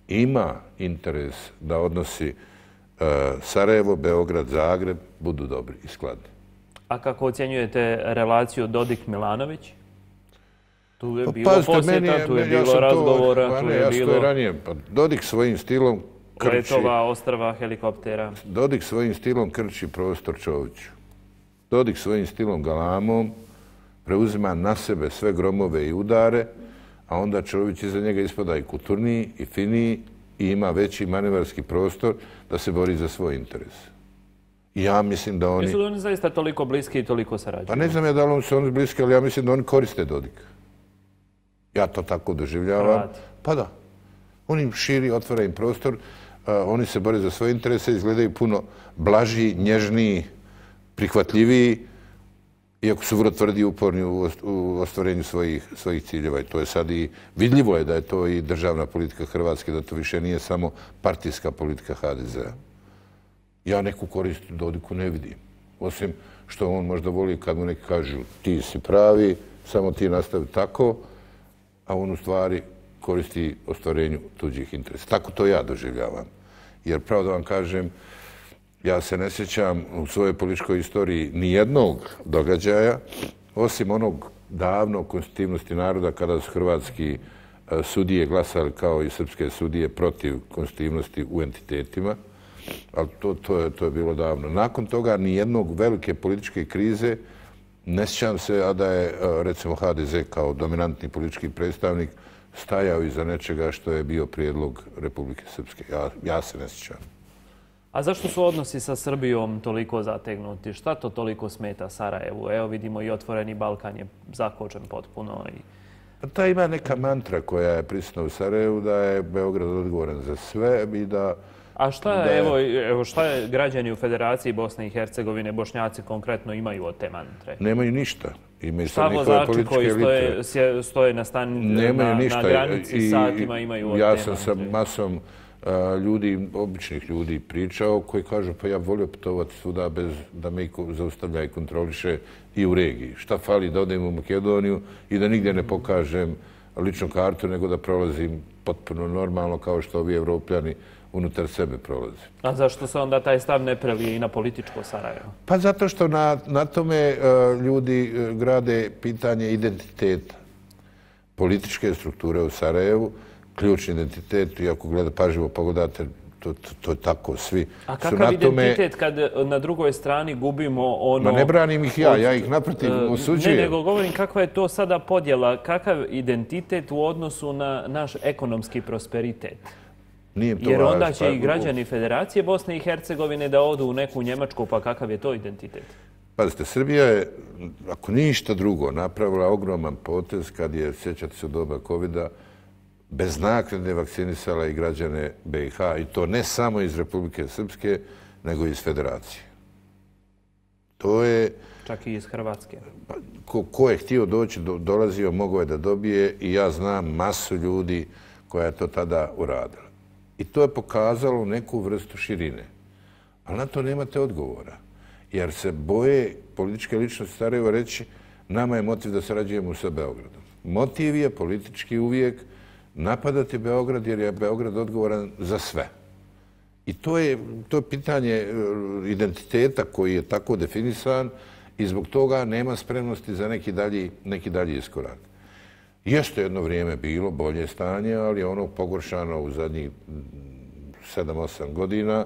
ima interes da odnosi uh, Sarajevo, Beograd, Zagreb budu dobri i skladni. A kako ocjenjujete relaciju Dodik-Milanović? Tu je Pa, bilo pazite, posjeta, meni je, tu je meni, ja bilo sam razgovora, to, tu ne, je ja bilo to ranije. Pa, Dodik svojim stilom krči, letova, ostrva, helikoptera. Dodik svojim stilom krči prostor Čoviću. Dodik svojim stilom galamom preuzima na sebe sve gromove i udare, a onda Čović iza njega ispada i kulturniji i finiji i ima veći manevarski prostor da se bori za svoj interes. I ja mislim da oni... Jesu li oni zaista toliko bliski i toliko sarađuju? Pa ne znam ja da li su oni bliski, ali ja mislim da oni koriste Dodika. Ja to tako doživljavam. Hrvati. Pa da. On im širi, otvara im prostor, uh, oni se bore za svoje interese, izgledaju puno blažiji, nježniji, prihvatljiviji, iako su vrlo tvrdi i uporni u, u ostvarenju svojih, svojih ciljeva. I to je sad i vidljivo je da je to i državna politika Hrvatske, da to više nije samo partijska politika H D Z-a. Ja neku korist Dodiku ne vidim. Osim što on možda voli kad mu neki kažu ti si pravi, samo ti nastavi tako, a on u stvari koristi ostvarenju tuđih interesa. Tako to ja doživljavam. Jer pravo da vam kažem, ja se ne sjećam u svojoj političkoj istoriji ni jednog događaja, osim onog davno konstitutivnosti naroda kada su hrvatski sudije glasali kao i srpske sudije protiv konstitutivnosti u entitetima, ali to, to, je, to je bilo davno. Nakon toga ni jednog velike političke krize ne sjećam se, a da je recimo ha de ze kao dominantni politički predstavnik stajao iza nečega što je bio prijedlog Republike Srpske. Ja, ja se ne sjećam. A zašto su odnosi sa Srbijom toliko zategnuti? Šta to toliko smeta Sarajevu? Evo vidimo i Otvoreni Balkan je zakočen potpuno. I... Pa ta ima neka mantra koja je prisutna u Sarajevu da je Beograd odgovoran za sve i da... A šta, je... evo, evo, šta je građani u Federaciji Bosne i Hercegovine, Bošnjaci konkretno imaju od te mantre? Nemaju ništa. Imaju šta vozači koji stoje, stoje na, stani, na, na granici I, satima imaju od ja te sam mantre? sa masom uh, ljudi, običnih ljudi pričao koji kažu pa ja volio putovati svuda bez da me zaustavlja i kontroliše i u regiji. Šta fali da odem u Makedoniju i da nigdje ne pokažem ličnu kartu nego da prolazim potpuno normalno kao što ovi Evropljani unutar sebe prolazi. A zašto se onda taj stav ne prelije i na političko Sarajevo? Pa zato što na, na tome uh, ljudi uh, grade pitanje identiteta. Političke strukture u Sarajevu, ključni identitet, i ako gleda pažljivo pogledate, to, to, to je tako, svi A su kakav na identitet tome... kad na drugoj strani gubimo ono... Ma ne branim ih ja, od, ja ih naprotiv osuđujem. Ne, nego govorim kakva je to sada podjela, kakav identitet u odnosu na naš ekonomski prosperitet. Jer onda će i građani Federacije Bosne i Hercegovine da odu u neku Njemačku, pa kakav je to identitet? Pazite, Srbija je, ako ništa drugo, napravila ogroman potez kad je, sjećate se u doba kovida, bez naknade vakcinisala i građane be i ha, i to ne samo iz Republike Srpske, nego i iz Federacije. To je... Čak i iz Hrvatske. Ko, ko je htio doći, do, dolazio, mogao je da dobije i ja znam masu ljudi koja je to tada uradila. I to je pokazalo neku vrstu širine. Ali na to nemate odgovora. Jer se boje političke ličnosti Sarajeva reći nama je motiv da sarađujemo sa Beogradom. Motiv je politički uvijek napadati Beograd jer je Beograd odgovoran za sve. I to je, to je pitanje identiteta koji je tako definisan i zbog toga nema spremnosti za neki dalji, neki dalji iskorak. Jeste jedno vrijeme bilo bolje stanje, ali je ono pogoršano u zadnjih sedam osam godina.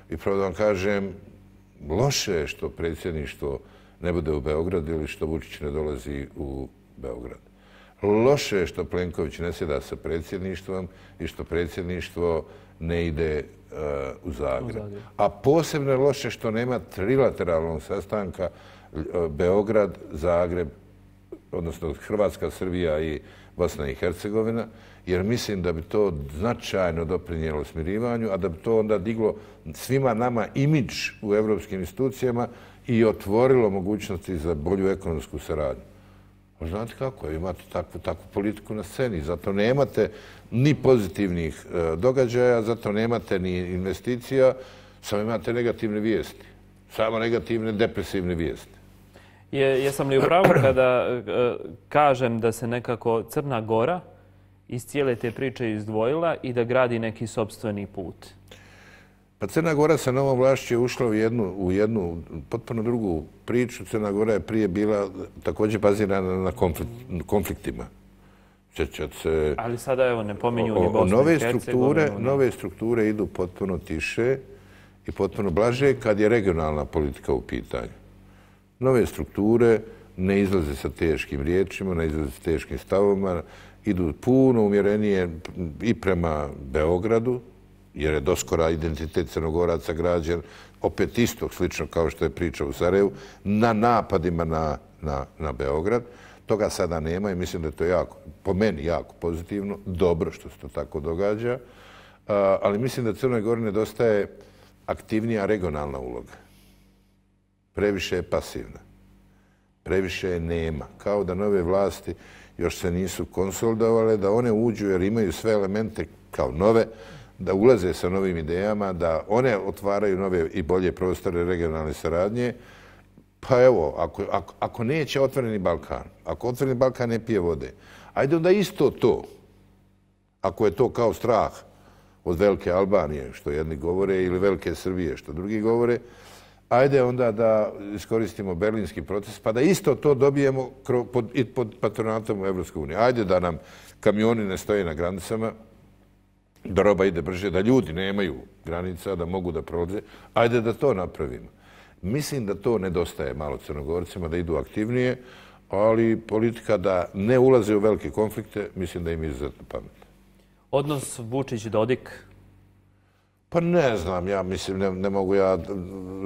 I pravo da vam kažem, loše je što predsjedništvo ne bude u Beogradu ili što Vučić ne dolazi u Beograd. Loše je što Plenković ne sjeda sa predsjedništvom i što predsjedništvo ne ide uh, u Zagreb. U Zagreb. A posebno je loše što nema trilateralnog sastanka uh, Beograd, Zagreb, odnosno Hrvatska, Srbija i Bosna i Hercegovina, jer mislim da bi to značajno doprinijelo smirivanju, a da bi to onda diglo svima nama imidž u evropskim institucijama i otvorilo mogućnosti za bolju ekonomsku saradnju. A znate kako je, imate takvu, takvu politiku na sceni, zato nemate ni pozitivnih e, događaja, zato nemate ni investicija, samo imate negativne vijesti, samo negativne depresivne vijesti. Je, jesam li u pravu kada e, kažem da se nekako Crna Gora iz cijele te priče izdvojila i da gradi neki sopstveni put? Pa Crna Gora sa novom vlašću je ušla u jednu, u jednu potpuno drugu priču. Crna Gora je prije bila također bazirana na konflikt, konfliktima. Čećat se... Ali sada evo ne pominju ni Bosnu i Hercegovinu. Nove strukture idu potpuno tiše i potpuno blaže kad je regionalna politika u pitanju. Nove strukture ne izlaze sa teškim riječima, ne izlaze sa teškim stavovima, idu puno umjerenije i prema Beogradu, jer je doskora identitet Crnogoraca građen, opet istog, slično kao što je priča u Sarajevu, na napadima na, na, na Beograd. Toga sada nema i mislim da je to jako, po meni jako pozitivno, dobro što se to tako događa, ali mislim da Crnoj Gori nedostaje aktivnija regionalna uloga. Previše je pasivna, previše je nema, kao da nove vlasti još se nisu konsolidovale, da one uđu jer imaju sve elemente kao nove, da ulaze sa novim idejama, da one otvaraju nove i bolje prostore regionalne saradnje. Pa evo, ako, ako, ako neće Otvoreni Balkan, ako Otvoreni Balkan ne pije vode, ajde onda isto to, ako je to kao strah od velike Albanije, što jedni govore, ili velike Srbije, što drugi govore, ajde onda da iskoristimo berlinski proces, pa da isto to dobijemo pod, pod patronatom Evropske unije. Ajde da nam kamioni ne stoje na granicama, da roba ide brže, da ljudi nemaju granica, da mogu da prolaze. Ajde da to napravimo. Mislim da to nedostaje malo Crnogorcima, da idu aktivnije, ali politika da ne ulaze u velike konflikte, mislim da im je izuzetno pametno. Odnos Vučić-Dodik? Pa ne znam, ja mislim, ne, ne mogu ja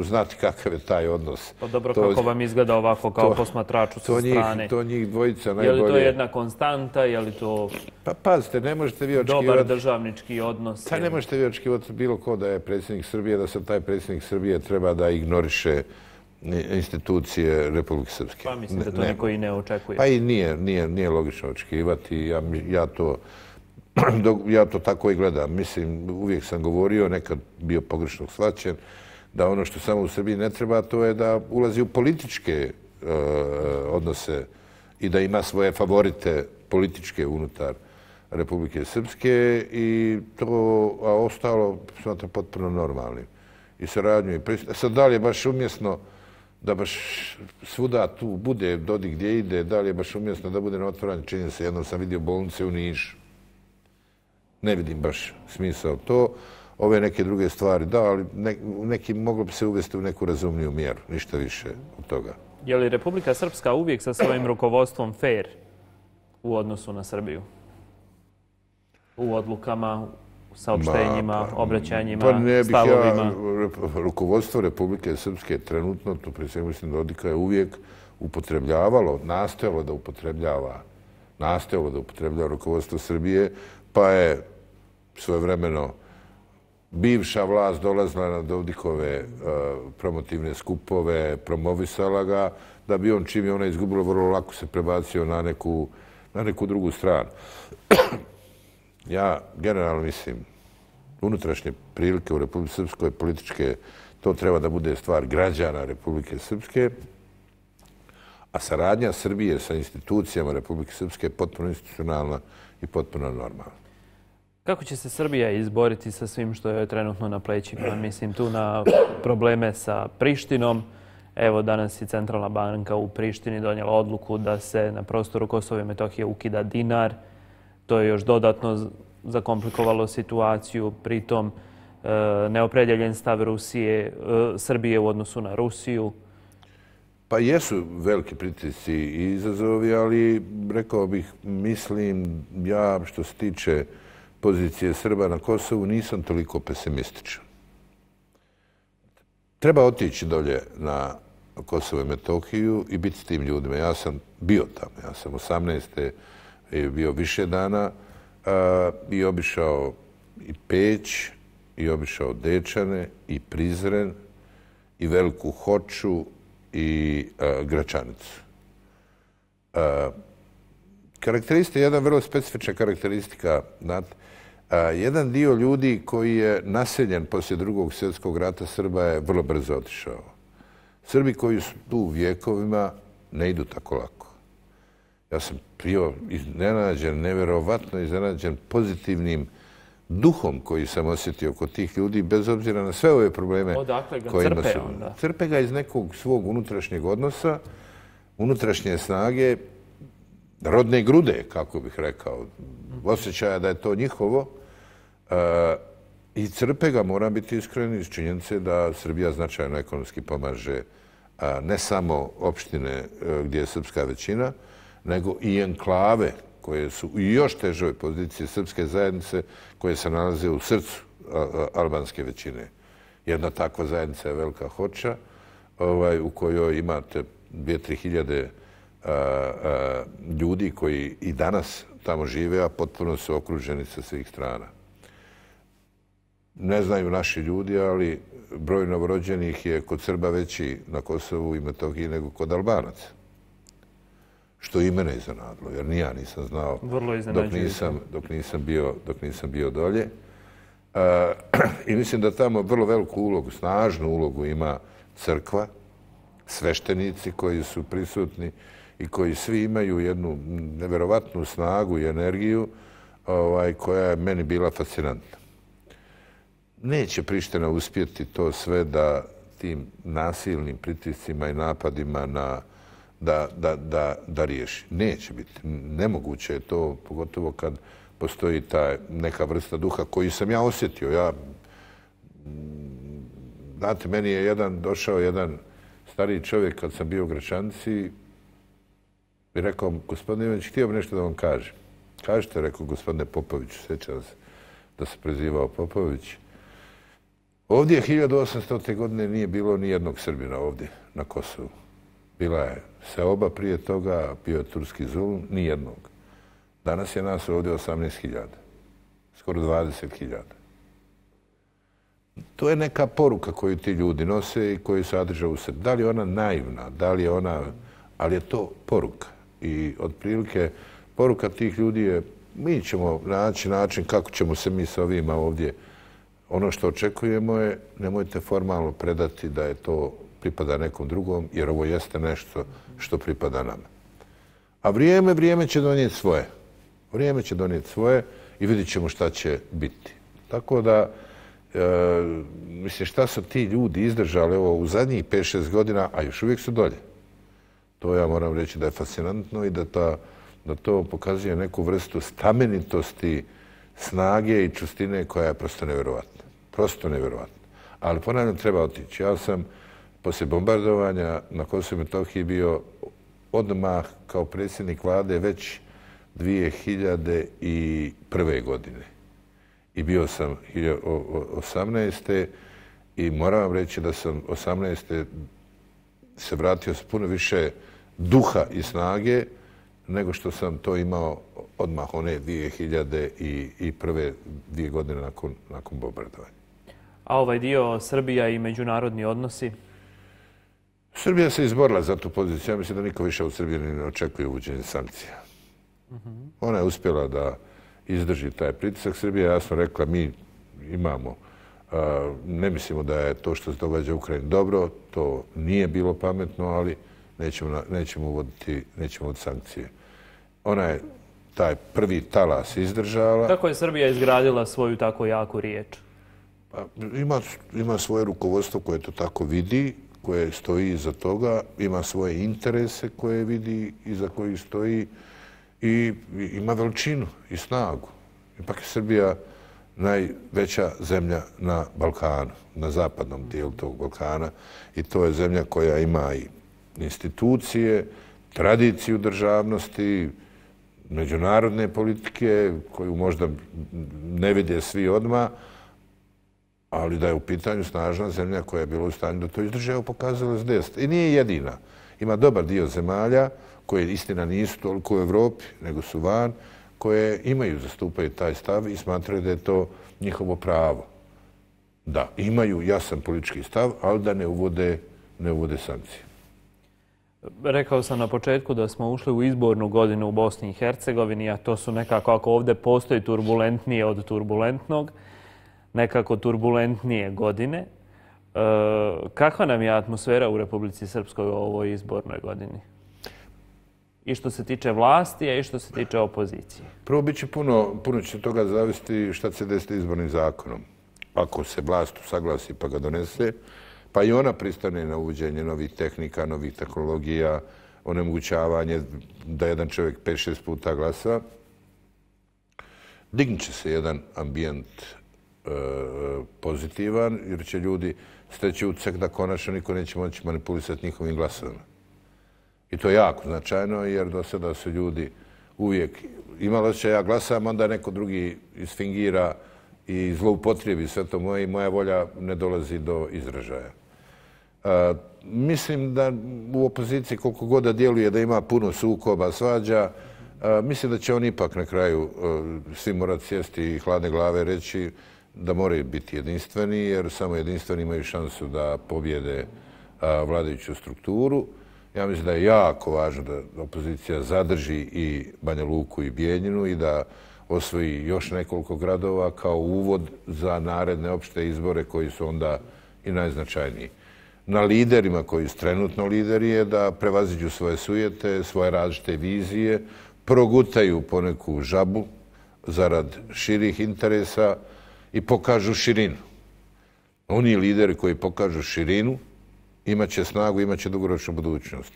znati kakav je taj odnos. Pa dobro, to, kako vam izgleda ovako kao to, posmatraču sa to njih, strane? To njih dvojica najbolje. Je li to jedna konstanta, je li to... Pa pazite, ne možete vi očekivati... Dobar državnički odnos? Pa ne možete vi očekivati bilo ko da je predsjednik Srbije, da sad taj predsjednik Srbije treba da ignoriše institucije Republike Srpske. Pa mislim da to niko i ne očekuje. Pa i nije, nije, nije logično očekivati. Ja, ja to... Ja to tako i gledam. Mislim, uvijek sam govorio, nekad bio pogrešno shvaćen, da ono što samo u Srbiji ne treba, to je da ulazi u političke uh, odnose i da ima svoje favorite političke unutar Republike Srpske i to, a ostalo smatram potpuno normalnim. I saradnju i pristup. Sad, da li je baš umjesno da baš svuda tu bude Dodik gdje ide, da li je baš umjesno da bude na otvaranju, čini se, jednom sam vidio bolnice u Nišu. Ne vidim baš smisao to. Ove neke druge stvari, da, ali ne, neki moglo bi se uvesti u neku razumniju mjeru, ništa više od toga. Je li Republika Srpska uvijek sa svojim rukovodstvom fair u odnosu na Srbiju? U odlukama, u saopštenjima, pa, obraćanjima, pa ne bih stavovima? Ja, rukovodstvo Republike Srpske trenutno, to prije svega mislim Dodika je uvijek upotrebljavalo, nastojalo da upotrebljava, nastojalo da upotrebljava rukovodstvo Srbije, pa je svojevremeno bivša vlast dolazila na Dodikove uh, promotivne skupove, promovisala ga, da bi on, čim je ona izgubila, vrlo lako se prebacio na neku, na neku drugu stranu. Ja generalno mislim, unutrašnje prilike u Republike Srpskoj, političke, to treba da bude stvar građana Republike Srpske, a saradnja Srbije sa institucijama Republike Srpske je potpuno institucionalna i potpuno normalna. Kako će se Srbija izboriti sa svim što je trenutno na plećima? Mislim tu na probleme sa Prištinom. Evo, danas je Centralna banka u Prištini donijela odluku da se na prostoru Kosova i Metohije ukida dinar. To je još dodatno zakomplikovalo situaciju. Pritom neopredjeljen stav Rusije, Srbije u odnosu na Rusiju. Pa jesu veliki pritisci i izazovi, ali rekao bih, mislim, ja što se tiče pozicije Srba na Kosovu nisam toliko pesimističan. Treba otići dolje na Kosovo i Metohiju i biti s tim ljudima. Ja sam bio tamo, ja sam osamnaeste bio više dana a, i obišao i Peć, i obišao Dečane, i Prizren, i Veliku Hoču, i a, Gračanicu. A, karakteristika, jedna vrlo specifična karakteristika, znate, a, jedan dio ljudi koji je naseljen poslije drugog svjetskog rata Srba je vrlo brzo otišao. Srbi koji su tu vjekovima ne idu tako lako. Ja sam bio iznenađen, nevjerovatno iznenađen pozitivnim duhom koji sam osjetio kod tih ljudi, bez obzira na sve ove probleme kojima su. Crpe ga iz nekog svog unutrašnjeg odnosa, unutrašnje snage, rodne grude, kako bih rekao, osjećaja da je to njihovo. I crpe ga, moram biti iskren, iz činjenice da Srbija značajno ekonomski pomaže ne samo opštine gdje je srpska većina, nego i enklave koje su u još težoj poziciji srpske zajednice koje se nalaze u srcu albanske većine. Jedna takva zajednica je Velika Hoča, u kojoj imate dvije do tri hiljade ljudi koji i danas tamo žive, a potpuno su okruženi sa svih strana. Ne znaju naši ljudi, ali broj novorođenih je kod Srba veći na Kosovu i Metohiji nego kod Albanaca. Što i mene iznenadilo, jer ni ja nisam znao dok nisam, dok nisam, bio, dok nisam bio dolje. Uh, I mislim da tamo vrlo veliku ulogu, snažnu ulogu ima crkva, sveštenici koji su prisutni i koji svi imaju jednu nevjerovatnu snagu i energiju ovaj, koja je meni bila fascinantna. neće Priština uspjeti to sve da tim nasilnim pritiscima i napadima na, da, da, da, da riješi. Neće biti. Nemoguće je to, pogotovo kad postoji ta neka vrsta duha koju sam ja osjetio. Ja, znate, meni je jedan, došao jedan stariji čovjek kad sam bio u Gračanici i rekao, gospodine Ivanić, htio bi nešto da vam kažem. Kažete, rekao gospodine Popoviću, sjećam se da se prezivao Popović. Ovdje hiljadu osamstote. godine nije bilo ni jednog Srbina ovdje na Kosovu. Bila je seoba prije toga, bio je turski zulum, ni jednog. Danas je nas ovdje osamnaest hiljada, skoro dvadeset hiljada. To je neka poruka koju ti ljudi nose i koju sadrže u sebi. Da li je ona naivna, da li je ona, ali je to poruka. I otprilike poruka tih ljudi je, mi ćemo naći način kako ćemo se mi sa ovima ovdje. Ono što očekujemo je, nemojte formalno predati da je to pripada nekom drugom, jer ovo jeste nešto što pripada nama. A vrijeme, vrijeme će donijeti svoje. Vrijeme će donijeti svoje i vidjet ćemo šta će biti. Tako da, e, mislim, šta su ti ljudi izdržali ovo u zadnjih pet šest godina, a još uvijek su dolje. To ja moram reći da je fascinantno i da, ta, da to pokazuje neku vrstu stamenitosti, snage i čustine koja je prosto nevjerovatna. Prosto nevjerovatna. Ali ponavljam, treba otići. Ja sam poslije bombardovanja na Kosovu i Metohiji bio odmah kao predsjednik vlade već dvije hiljade prve. godine. I bio sam osamnaeste. i moram vam reći da sam osamnaeste. se vratio s puno više duha i snage nego što sam to imao odmah one dvije hiljade prve. dvije godine nakon, nakon bombardovanja. A ovaj dio Srbija i međunarodni odnosi? Srbija se izborila za tu poziciju. Ja mislim da niko više u Srbiji ne očekuje uvođenje sankcija. Mm-hmm. Ona je uspjela da izdrži taj pritisak. Srbija je jasno rekla, mi imamo, a, ne mislimo da je to što se događa u Ukrajini dobro, to nije bilo pametno, ali nećemo, nećemo, uvoditi, nećemo uvoditi sankcije. Ona je taj prvi talas izdržala. Kako je Srbija izgradila svoju tako jaku riječ? Pa, ima, ima svoje rukovodstvo koje to tako vidi, koje stoji iza toga, ima svoje interese koje vidi iza kojih stoji i ima veličinu i snagu. Ipak je Srbija najveća zemlja na Balkanu, na zapadnom dijelu tog Balkana, i to je zemlja koja ima i institucije, tradiciju državnosti, međunarodne politike koju možda ne vide svi odmah, ali da je u pitanju snažna zemlja koja je bila u stanju da to izdrže, evo pokazala s desna. I nije jedina. Ima dobar dio zemalja koje istina nisu toliko u Evropi, nego su van, koje imaju, zastupaju taj stav i smatraju da je to njihovo pravo. Da, imaju jasan politički stav, ali da ne uvode, ne uvode sankcije. Rekao sam na početku da smo ušli u izbornu godinu u Bosni i Hercegovini, a to su nekako, ako ovdje postoji turbulentnije od turbulentnog, nekako turbulentnije godine. E, kakva nam je atmosfera u Republici Srpskoj u ovoj izbornoj godini? I što se tiče vlasti, a i što se tiče opozicije. Prvo, bit će puno, puno će toga zavisiti šta će se desiti izbornim zakonom. Ako se vlast usaglasi pa ga donese, pa i ona pristane na uvođenje novih tehnika, novih tehnologija, onemogućavanje da jedan čovjek pet šest puta glasa, dignut će se jedan ambijent e, pozitivan, jer će ljudi steći utisak da konačno niko neće moći manipulisati njihovim glasovima. I to je jako značajno, jer do sada su ljudi uvijek imali osjećaj ja glasam, onda neko drugi isfingira i zloupotrijebi sve to moje i moja volja ne dolazi do izražaja. A, mislim da u opoziciji koliko god da djeluje da ima puno sukoba, svađa, a, mislim da će oni ipak na kraju a, svi morati sjesti i hladne glave reći da moraju biti jedinstveni, jer samo jedinstveni imaju šansu da pobjede a, vladajuću strukturu. Ja mislim da je jako važno da opozicija zadrži i Banja Luku i Bijeljinu i da osvoji još nekoliko gradova kao uvod za naredne opšte izbore koji su onda i najznačajniji. Na liderima koji su trenutno lideri je da prevaziđu svoje sujete, svoje različite vizije, progutaju poneku žabu zarad širih interesa i pokažu širinu. Oni lideri koji pokažu širinu imaće snagu, imaće dugoročnu budućnost.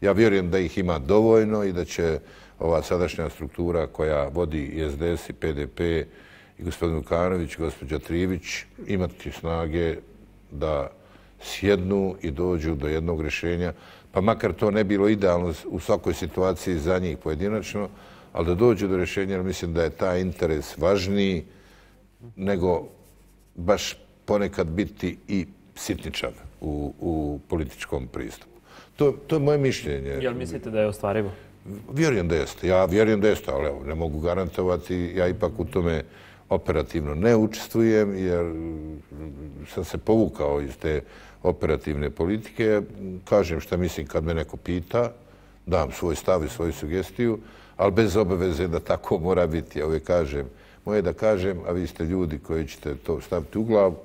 Ja vjerujem da ih ima dovoljno i da će ova sadašnja struktura koja vodi i S D S i P D P i gospodin Vukanović, gospođa Trivić imati snage da sjednu i dođu do jednog rješenja, pa makar to ne bilo idealno u svakoj situaciji za njih pojedinačno, ali da dođu do rješenja, jer mislim da je taj interes važniji nego baš ponekad biti i sitničav u, u političkom pristupu. To, to je moje mišljenje. Jel mislite da je ostvarivo? Vjerujem da jeste. Ja vjerujem da jeste, ali evo, ne mogu garantovati. Ja ipak u tome operativno ne učestvujem, jer sam se povukao iz te operativne politike. Kažem šta mislim kad me neko pita, dam svoj stav i svoju sugestiju, ali bez obaveze da tako mora biti. Ja uvijek kažem, moje da kažem, a vi ste ljudi koji ćete to staviti u glavu,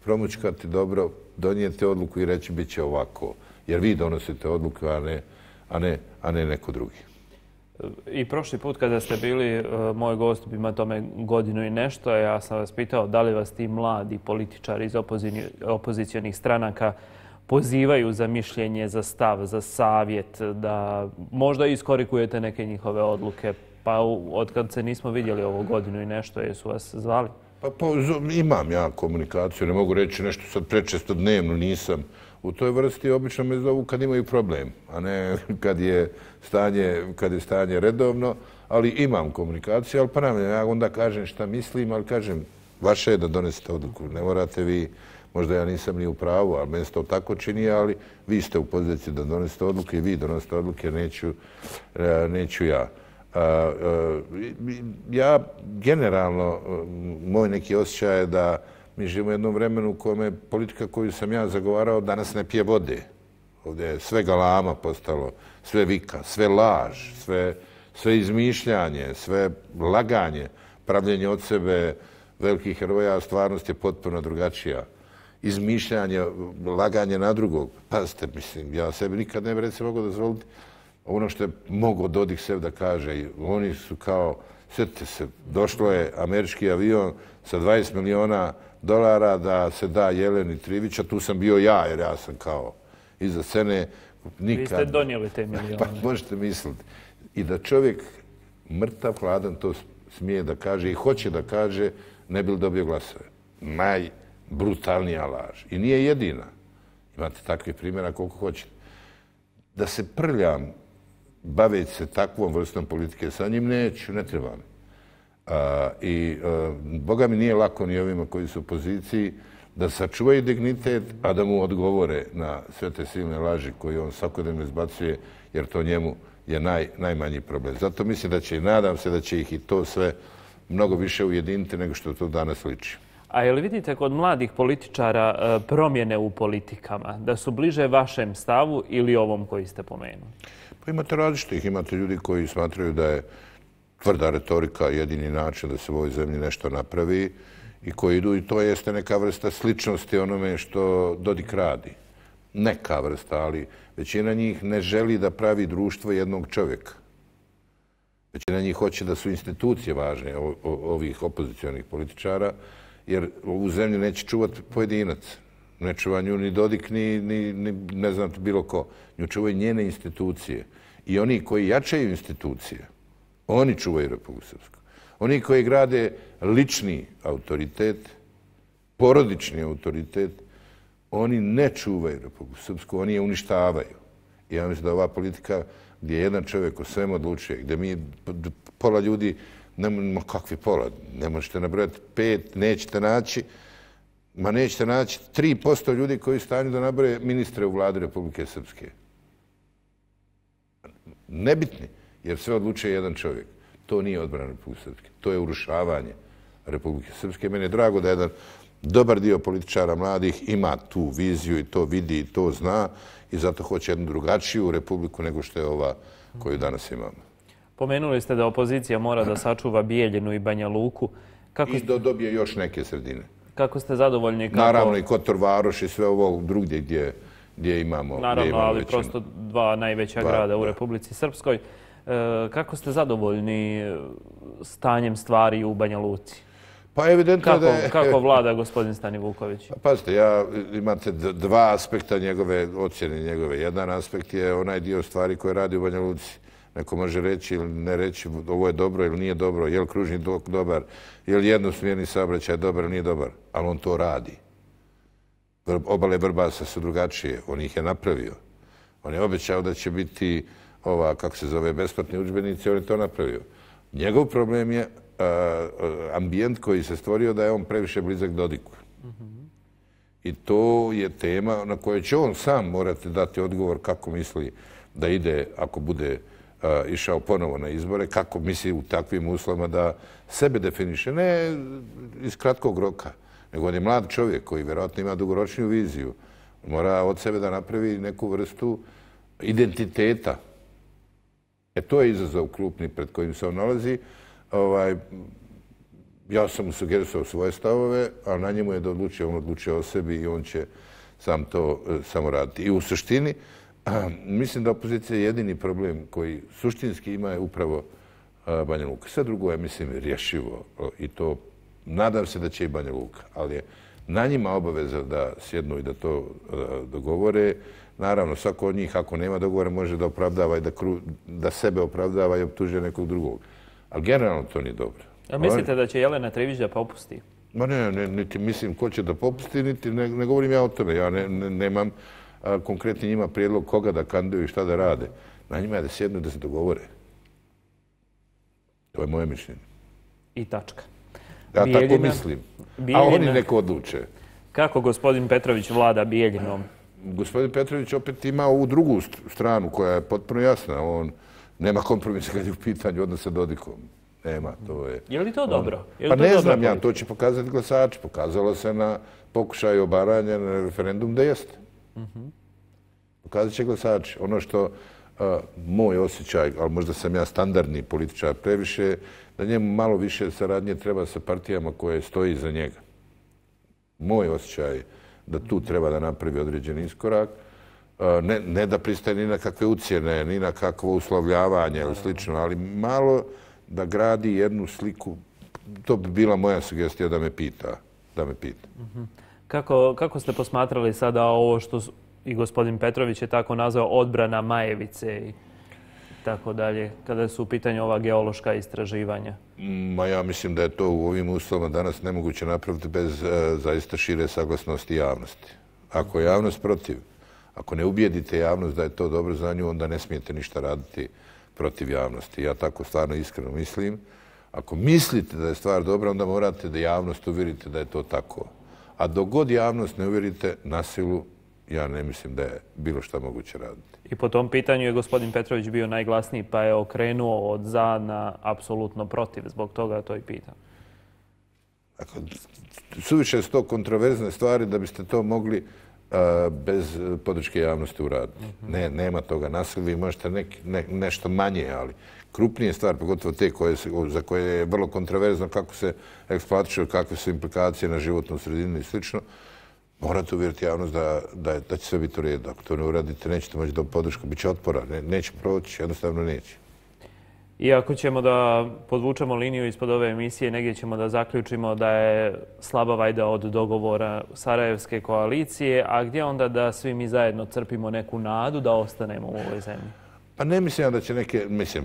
promučkati dobro, donijeti odluku i reći bit će ovako. Jer vi donosite odluku, a ne, a ne, a ne neko drugi. I prošli put kada ste bili moj gost, ima tome godinu i nešto, ja sam vas pitao da li vas ti mladi političari iz opozicionih stranaka pozivaju za mišljenje, za stav, za savjet, da možda iskorikujete neke njihove odluke. Pa od kad se nismo vidjeli ovo godinu i nešto, jesu vas zvali? Pa, pa imam ja komunikaciju, ne mogu reći nešto sad prečesto dnevno, nisam u toj vrsti. Obično me zovu kad imaju problem, a ne kad je stanje, kad je stanje redovno, ali imam komunikaciju, ali ponavljam, ja onda kažem šta mislim, ali kažem, vaše je da donesete odluku, ne morate vi, možda ja nisam ni u pravu, ali meni se to tako čini, ali vi ste u poziciji da donesete odluke i vi donosite odluke, neću, neću ja. Ja generalno, moj neki osjećaj je da mi živimo u jednom vremenu u kome politika koju sam ja zagovarao danas ne pije vode. Ovdje je sve galama postalo, sve vika, sve laž, sve, sve izmišljanje, sve laganje, pravljenje od sebe velikih heroja, a stvarnost je potpuno drugačija. Izmišljanje, laganje na drugog. Pazite, mislim, ja sebi nikad ne bi recimo mogao dozvoliti ono što je mogao Dodik sebi da kaže. Oni su kao, sjetite se, došlo je američki avion sa dvadeset miliona dolara da se da Jeleni Trivić, a tu sam bio ja, jer ja sam kao iza scene. Nikad... Vi ste donijeli te milijone. Pa možete misliti. I da čovjek mrtav, hladan to smije da kaže i hoće da kaže, ne bi li dobio glasove. Najbrutalnija laž. I nije jedina. Imate takvih primjera koliko hoćete. Da se prljam baveći se takvom vrstom politike sa njim, neću, ne trebam. A, I a, Boga mi nije lako ni ovima koji su u poziciji da sačuvaju dignitet, a da mu odgovore na sve te silne laži koje on svakodnevno izbacuje, jer to njemu je naj, najmanji problem. Zato mislim da će i nadam se da će ih i to sve mnogo više ujediniti nego što to danas liči. A je li vidite kod mladih političara promjene u politikama, da su bliže vašem stavu ili ovom koji ste pomenuli? Pa imate različitih. Imate ljudi koji smatraju da je tvrda retorika jedini način da se u ovoj zemlji nešto napravi i koji idu, i to jeste neka vrsta sličnosti onome što Dodik radi. Neka vrsta, ali većina njih ne želi da pravi društvo jednog čovjeka. Većina njih hoće da su institucije važne ovih opozicionih političara, jer ovu zemlju neće čuvati pojedinac. Ne čuva nju ni Dodik, ni, ni, ni ne znam bilo ko. Nju čuvaju njene institucije. I oni koji jačaju institucije, oni čuvaju Republiku Srpsku. Oni koji grade lični autoritet, porodični autoritet, oni ne čuvaju Republiku Srpsku, oni je uništavaju. I ja mislim da ova politika gdje jedan čovjek o svemu odlučuje, gdje mi pola ljudi, ne, kakvi pola, ne možete nabrojati pet, nećete naći, ma nećete naći tri posto ljudi koji stanju da nabroje ministre u vladi Republike Srpske. Nebitni, jer sve odlučuje jedan čovjek. To nije odbrana Republike Srpske, to je urušavanje Republike Srpske. Meni je drago da jedan dobar dio političara mladih ima tu viziju i to vidi i to zna i zato hoće jednu drugačiju republiku nego što je ova koju danas imamo. Pomenuli ste da opozicija mora da sačuva Bijeljinu i Banja Luku. Kako... I da dobije još neke sredine. Kako ste zadovoljni? Kako... Naravno i Kotor Varoš i sve ovo drugdje gdje, gdje imamo Naravno, gdje imamo ali većinu. Prosto dva najveća dva, grada u da. Republici Srpskoj. E, kako ste zadovoljni stanjem stvari u Banja Luci? Pa evidentno kako, da je... Kako vlada gospodin Stani Vuković? Pazite, ja, imate dva aspekta njegove ocjene njegove. Jedan aspekt je onaj dio stvari koje radi u Banja Luci. Neko može reći ili ne reći ovo je dobro ili nije dobro, je li kružni tok dobar, je li jednosmjerni saobraćaj dobar ili nije dobar, ali on to radi. Obale Vrbasa su drugačije, on ih je napravio. On je obećao da će biti ova, kako se zove, besplatni udžbenici, on je to napravio. Njegov problem je ambijent koji se stvorio da je on previše blizak Dodiku. I to je tema na kojoj će on sam morati dati odgovor kako misli da ide, ako bude išao ponovo na izbore, kako misli u takvim uslovima da sebe definiše, ne iz kratkog roka, nego on je mlad čovjek koji vjerojatno ima dugoročniju viziju. Mora od sebe da napravi neku vrstu identiteta. E to je izazov krupni pred kojim se on nalazi. Ovaj, ja sam mu sugerisao svoje stavove, a na njemu je da odlučio, on odlučio o sebi i on će sam to samo raditi. I u suštini, mislim da opozicija je jedini problem koji suštinski ima je upravo Banja Luka. Sve drugo je, mislim, rješivo i to nadam se da će i Banja Luka, ali je na njima obaveza da sjednu i da to dogovore. Naravno, svako od njih, ako nema dogovora, može da opravdava i da, kru, da sebe opravdava i optužuje nekog drugog. Ali generalno to nije dobro. A mislite da će Jelena Trivić da popusti? Ma ne, ne, niti mislim ko će da popusti, niti ne, ne govorim ja o tome. Ja ne, ne, nemam a, konkretni njima prijedlog koga da kandiduju i šta da rade. Na njima je da sjednu i da se dogovore. To je moje mišljenje. I tačka. Ja Bijeljina, tako mislim. Bijeljina, a oni neko odluče. Kako gospodin Petrović vlada Bijeljinom? Gospodin Petrović opet ima ovu drugu stranu koja je potpuno jasna. On nema kompromisa kad je u pitanju odnosa sa Dodikom. Nema, to je... Je li to dobro? Je li pa to ne dobro znam politika? ja, to će pokazati glasači. Pokazalo se na pokušaju obaranja na referendum da jeste. Uh-huh. Pokazat će glasači. Ono što a, moj osjećaj, ali možda sam ja standardni političar previše, da njemu malo više saradnje treba sa partijama koje stoji iza njega. Moj osjećaj da tu treba da napravi određeni iskorak. Ne, ne da pristaje ni na kakve ucjene, ni na kakvo uslovljavanje ili slično, ali malo da gradi jednu sliku. To bi bila moja sugestija da me pita. Da me pita. Kako, kako ste posmatrali sada ovo što i gospodin Petrović je tako nazvao odbrana Majevice i tako dalje, kada su u pitanju ova geološka istraživanja? Ma ja mislim da je to u ovim uslovima danas nemoguće napraviti bez uh, zaista šire saglasnosti javnosti. Ako je javnost protiv, ako ne ubijedite javnost da je to dobro za nju, onda ne smijete ništa raditi protiv javnosti. Ja tako stvarno iskreno mislim. Ako mislite da je stvar dobra, onda morate da javnost uvjerite da je to tako. A dok god javnost ne uvjerite na silu, ja ne mislim da je bilo šta moguće raditi. I po tom pitanju je gospodin Petrović bio najglasniji, pa je okrenuo od za na apsolutno protiv. Zbog toga to i pitam. Dakle, suviše su to kontroverzne stvari da biste to mogli uh, bez podrške javnosti uraditi. Mm-hmm. Ne, nema toga nasilja. Vi možete neki, ne, nešto manje, ali krupnije stvari, pogotovo te koje se, za koje je vrlo kontroverzno kako se eksploatišu, kakve su implikacije na životnu sredinu i slično, morate uvjeriti javnost da, da, da će sve biti u redu. Ako to ne uradite, nećete moći dobiti podršku, bit će otpora, ne, neće proći, jednostavno neće. I ako ćemo da podvučemo liniju ispod ove emisije, negdje ćemo da zaključimo da je slaba vajda od dogovora Sarajevske koalicije, a gdje onda da svi mi zajedno crpimo neku nadu da ostanemo u ovoj zemlji? Pa ne mislim da će neke, mislim,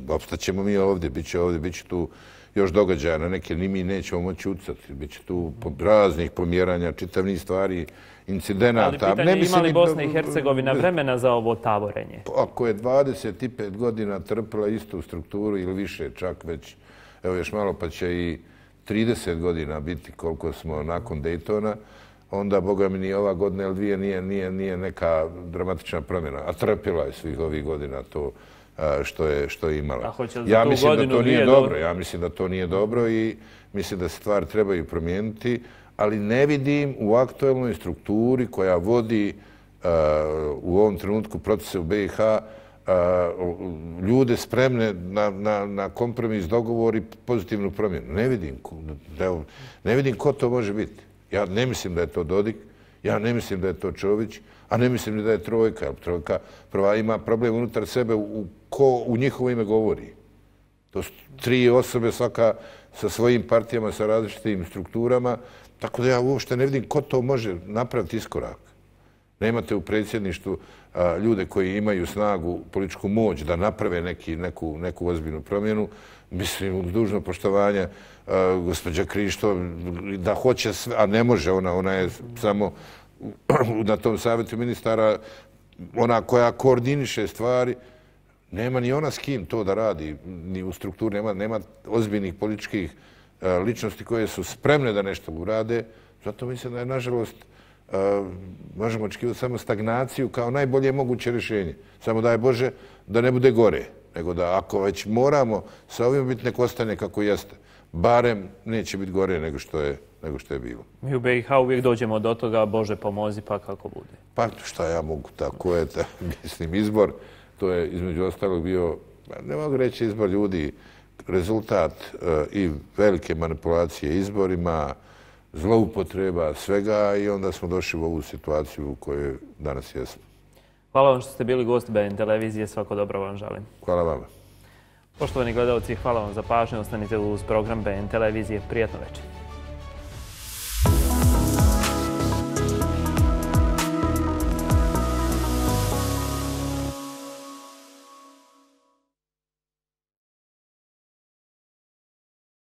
opstaćemo mi ovdje, bit će ovdje, bit će tu još događaja, na neke ni mi nećemo moći ucati. Biće tu raznih pomjeranja, čitav niz stvari, incidenata. Ali pitanje je ima li Bosna i Hercegovina vremena za ovo taborenje? Ako je dvadeset pet godina trpila istu strukturu ili više, čak već, evo još malo pa će i trideset godina biti koliko smo nakon Daytona, onda, boga mi, ni ova godina ili dvije nije, nije, nije neka dramatična promjena. A trpila je svih ovih godina to što je, što je imala. Ja mislim da to nije dobro. Ja mislim da to nije dobro i mislim da se stvari trebaju promijeniti, ali ne vidim u aktualnoj strukturi koja vodi uh, u ovom trenutku procese u B i H uh, ljude spremne na, na, na kompromis, dogovor i pozitivnu promjenu. Ne vidim, da, ne vidim ko to može biti. Ja ne mislim da je to Dodik, ja ne mislim da je to Čović, a ne mislim ni da je Trojka. Trojka prva ima problem unutar sebe u ko u njihovo ime govori. To su tri osobe, svaka sa svojim partijama, sa različitim strukturama, tako da ja uopšte ne vidim ko to može napraviti iskorak. Nemate u predsjedništvu ljude koji imaju snagu, političku moć da naprave neki, neku, neku ozbiljnu promjenu. Mislim, uz dužno poštovanje, gospođa Krišto, da hoće sve, a ne može, ona, ona je samo na tom savjetu ministara, ona koja koordiniše stvari, nema ni ona s kim to da radi, ni u strukturi, nema, nema ozbiljnih političkih ličnosti koje su spremne da nešto urade. Zato mislim da je, nažalost, možemo očekivati samo stagnaciju kao najbolje moguće rješenje. Samo daj Bože da ne bude gore, nego da ako već moramo sa ovim biti nek ostane kako jeste, barem neće biti gore nego što je, nego što je bilo. Mi u B i H uvijek dođemo do toga, Bože pomozi, pa kako bude. Pa šta ja mogu, tako je, ta, mislim, izbor, to je između ostalog bio, ne mogu reći izbor ljudi, rezultat uh, i velike manipulacije izborima, zloupotreba svega i onda smo došli u ovu situaciju u kojoj danas jesmo. Hvala vam što ste bili gost B N televizije, svako dobro vam želim. Hvala vama. Poštovani gledalci, hvala vam za pažnju, ostanite uz program B N televizije. Prijatno večer.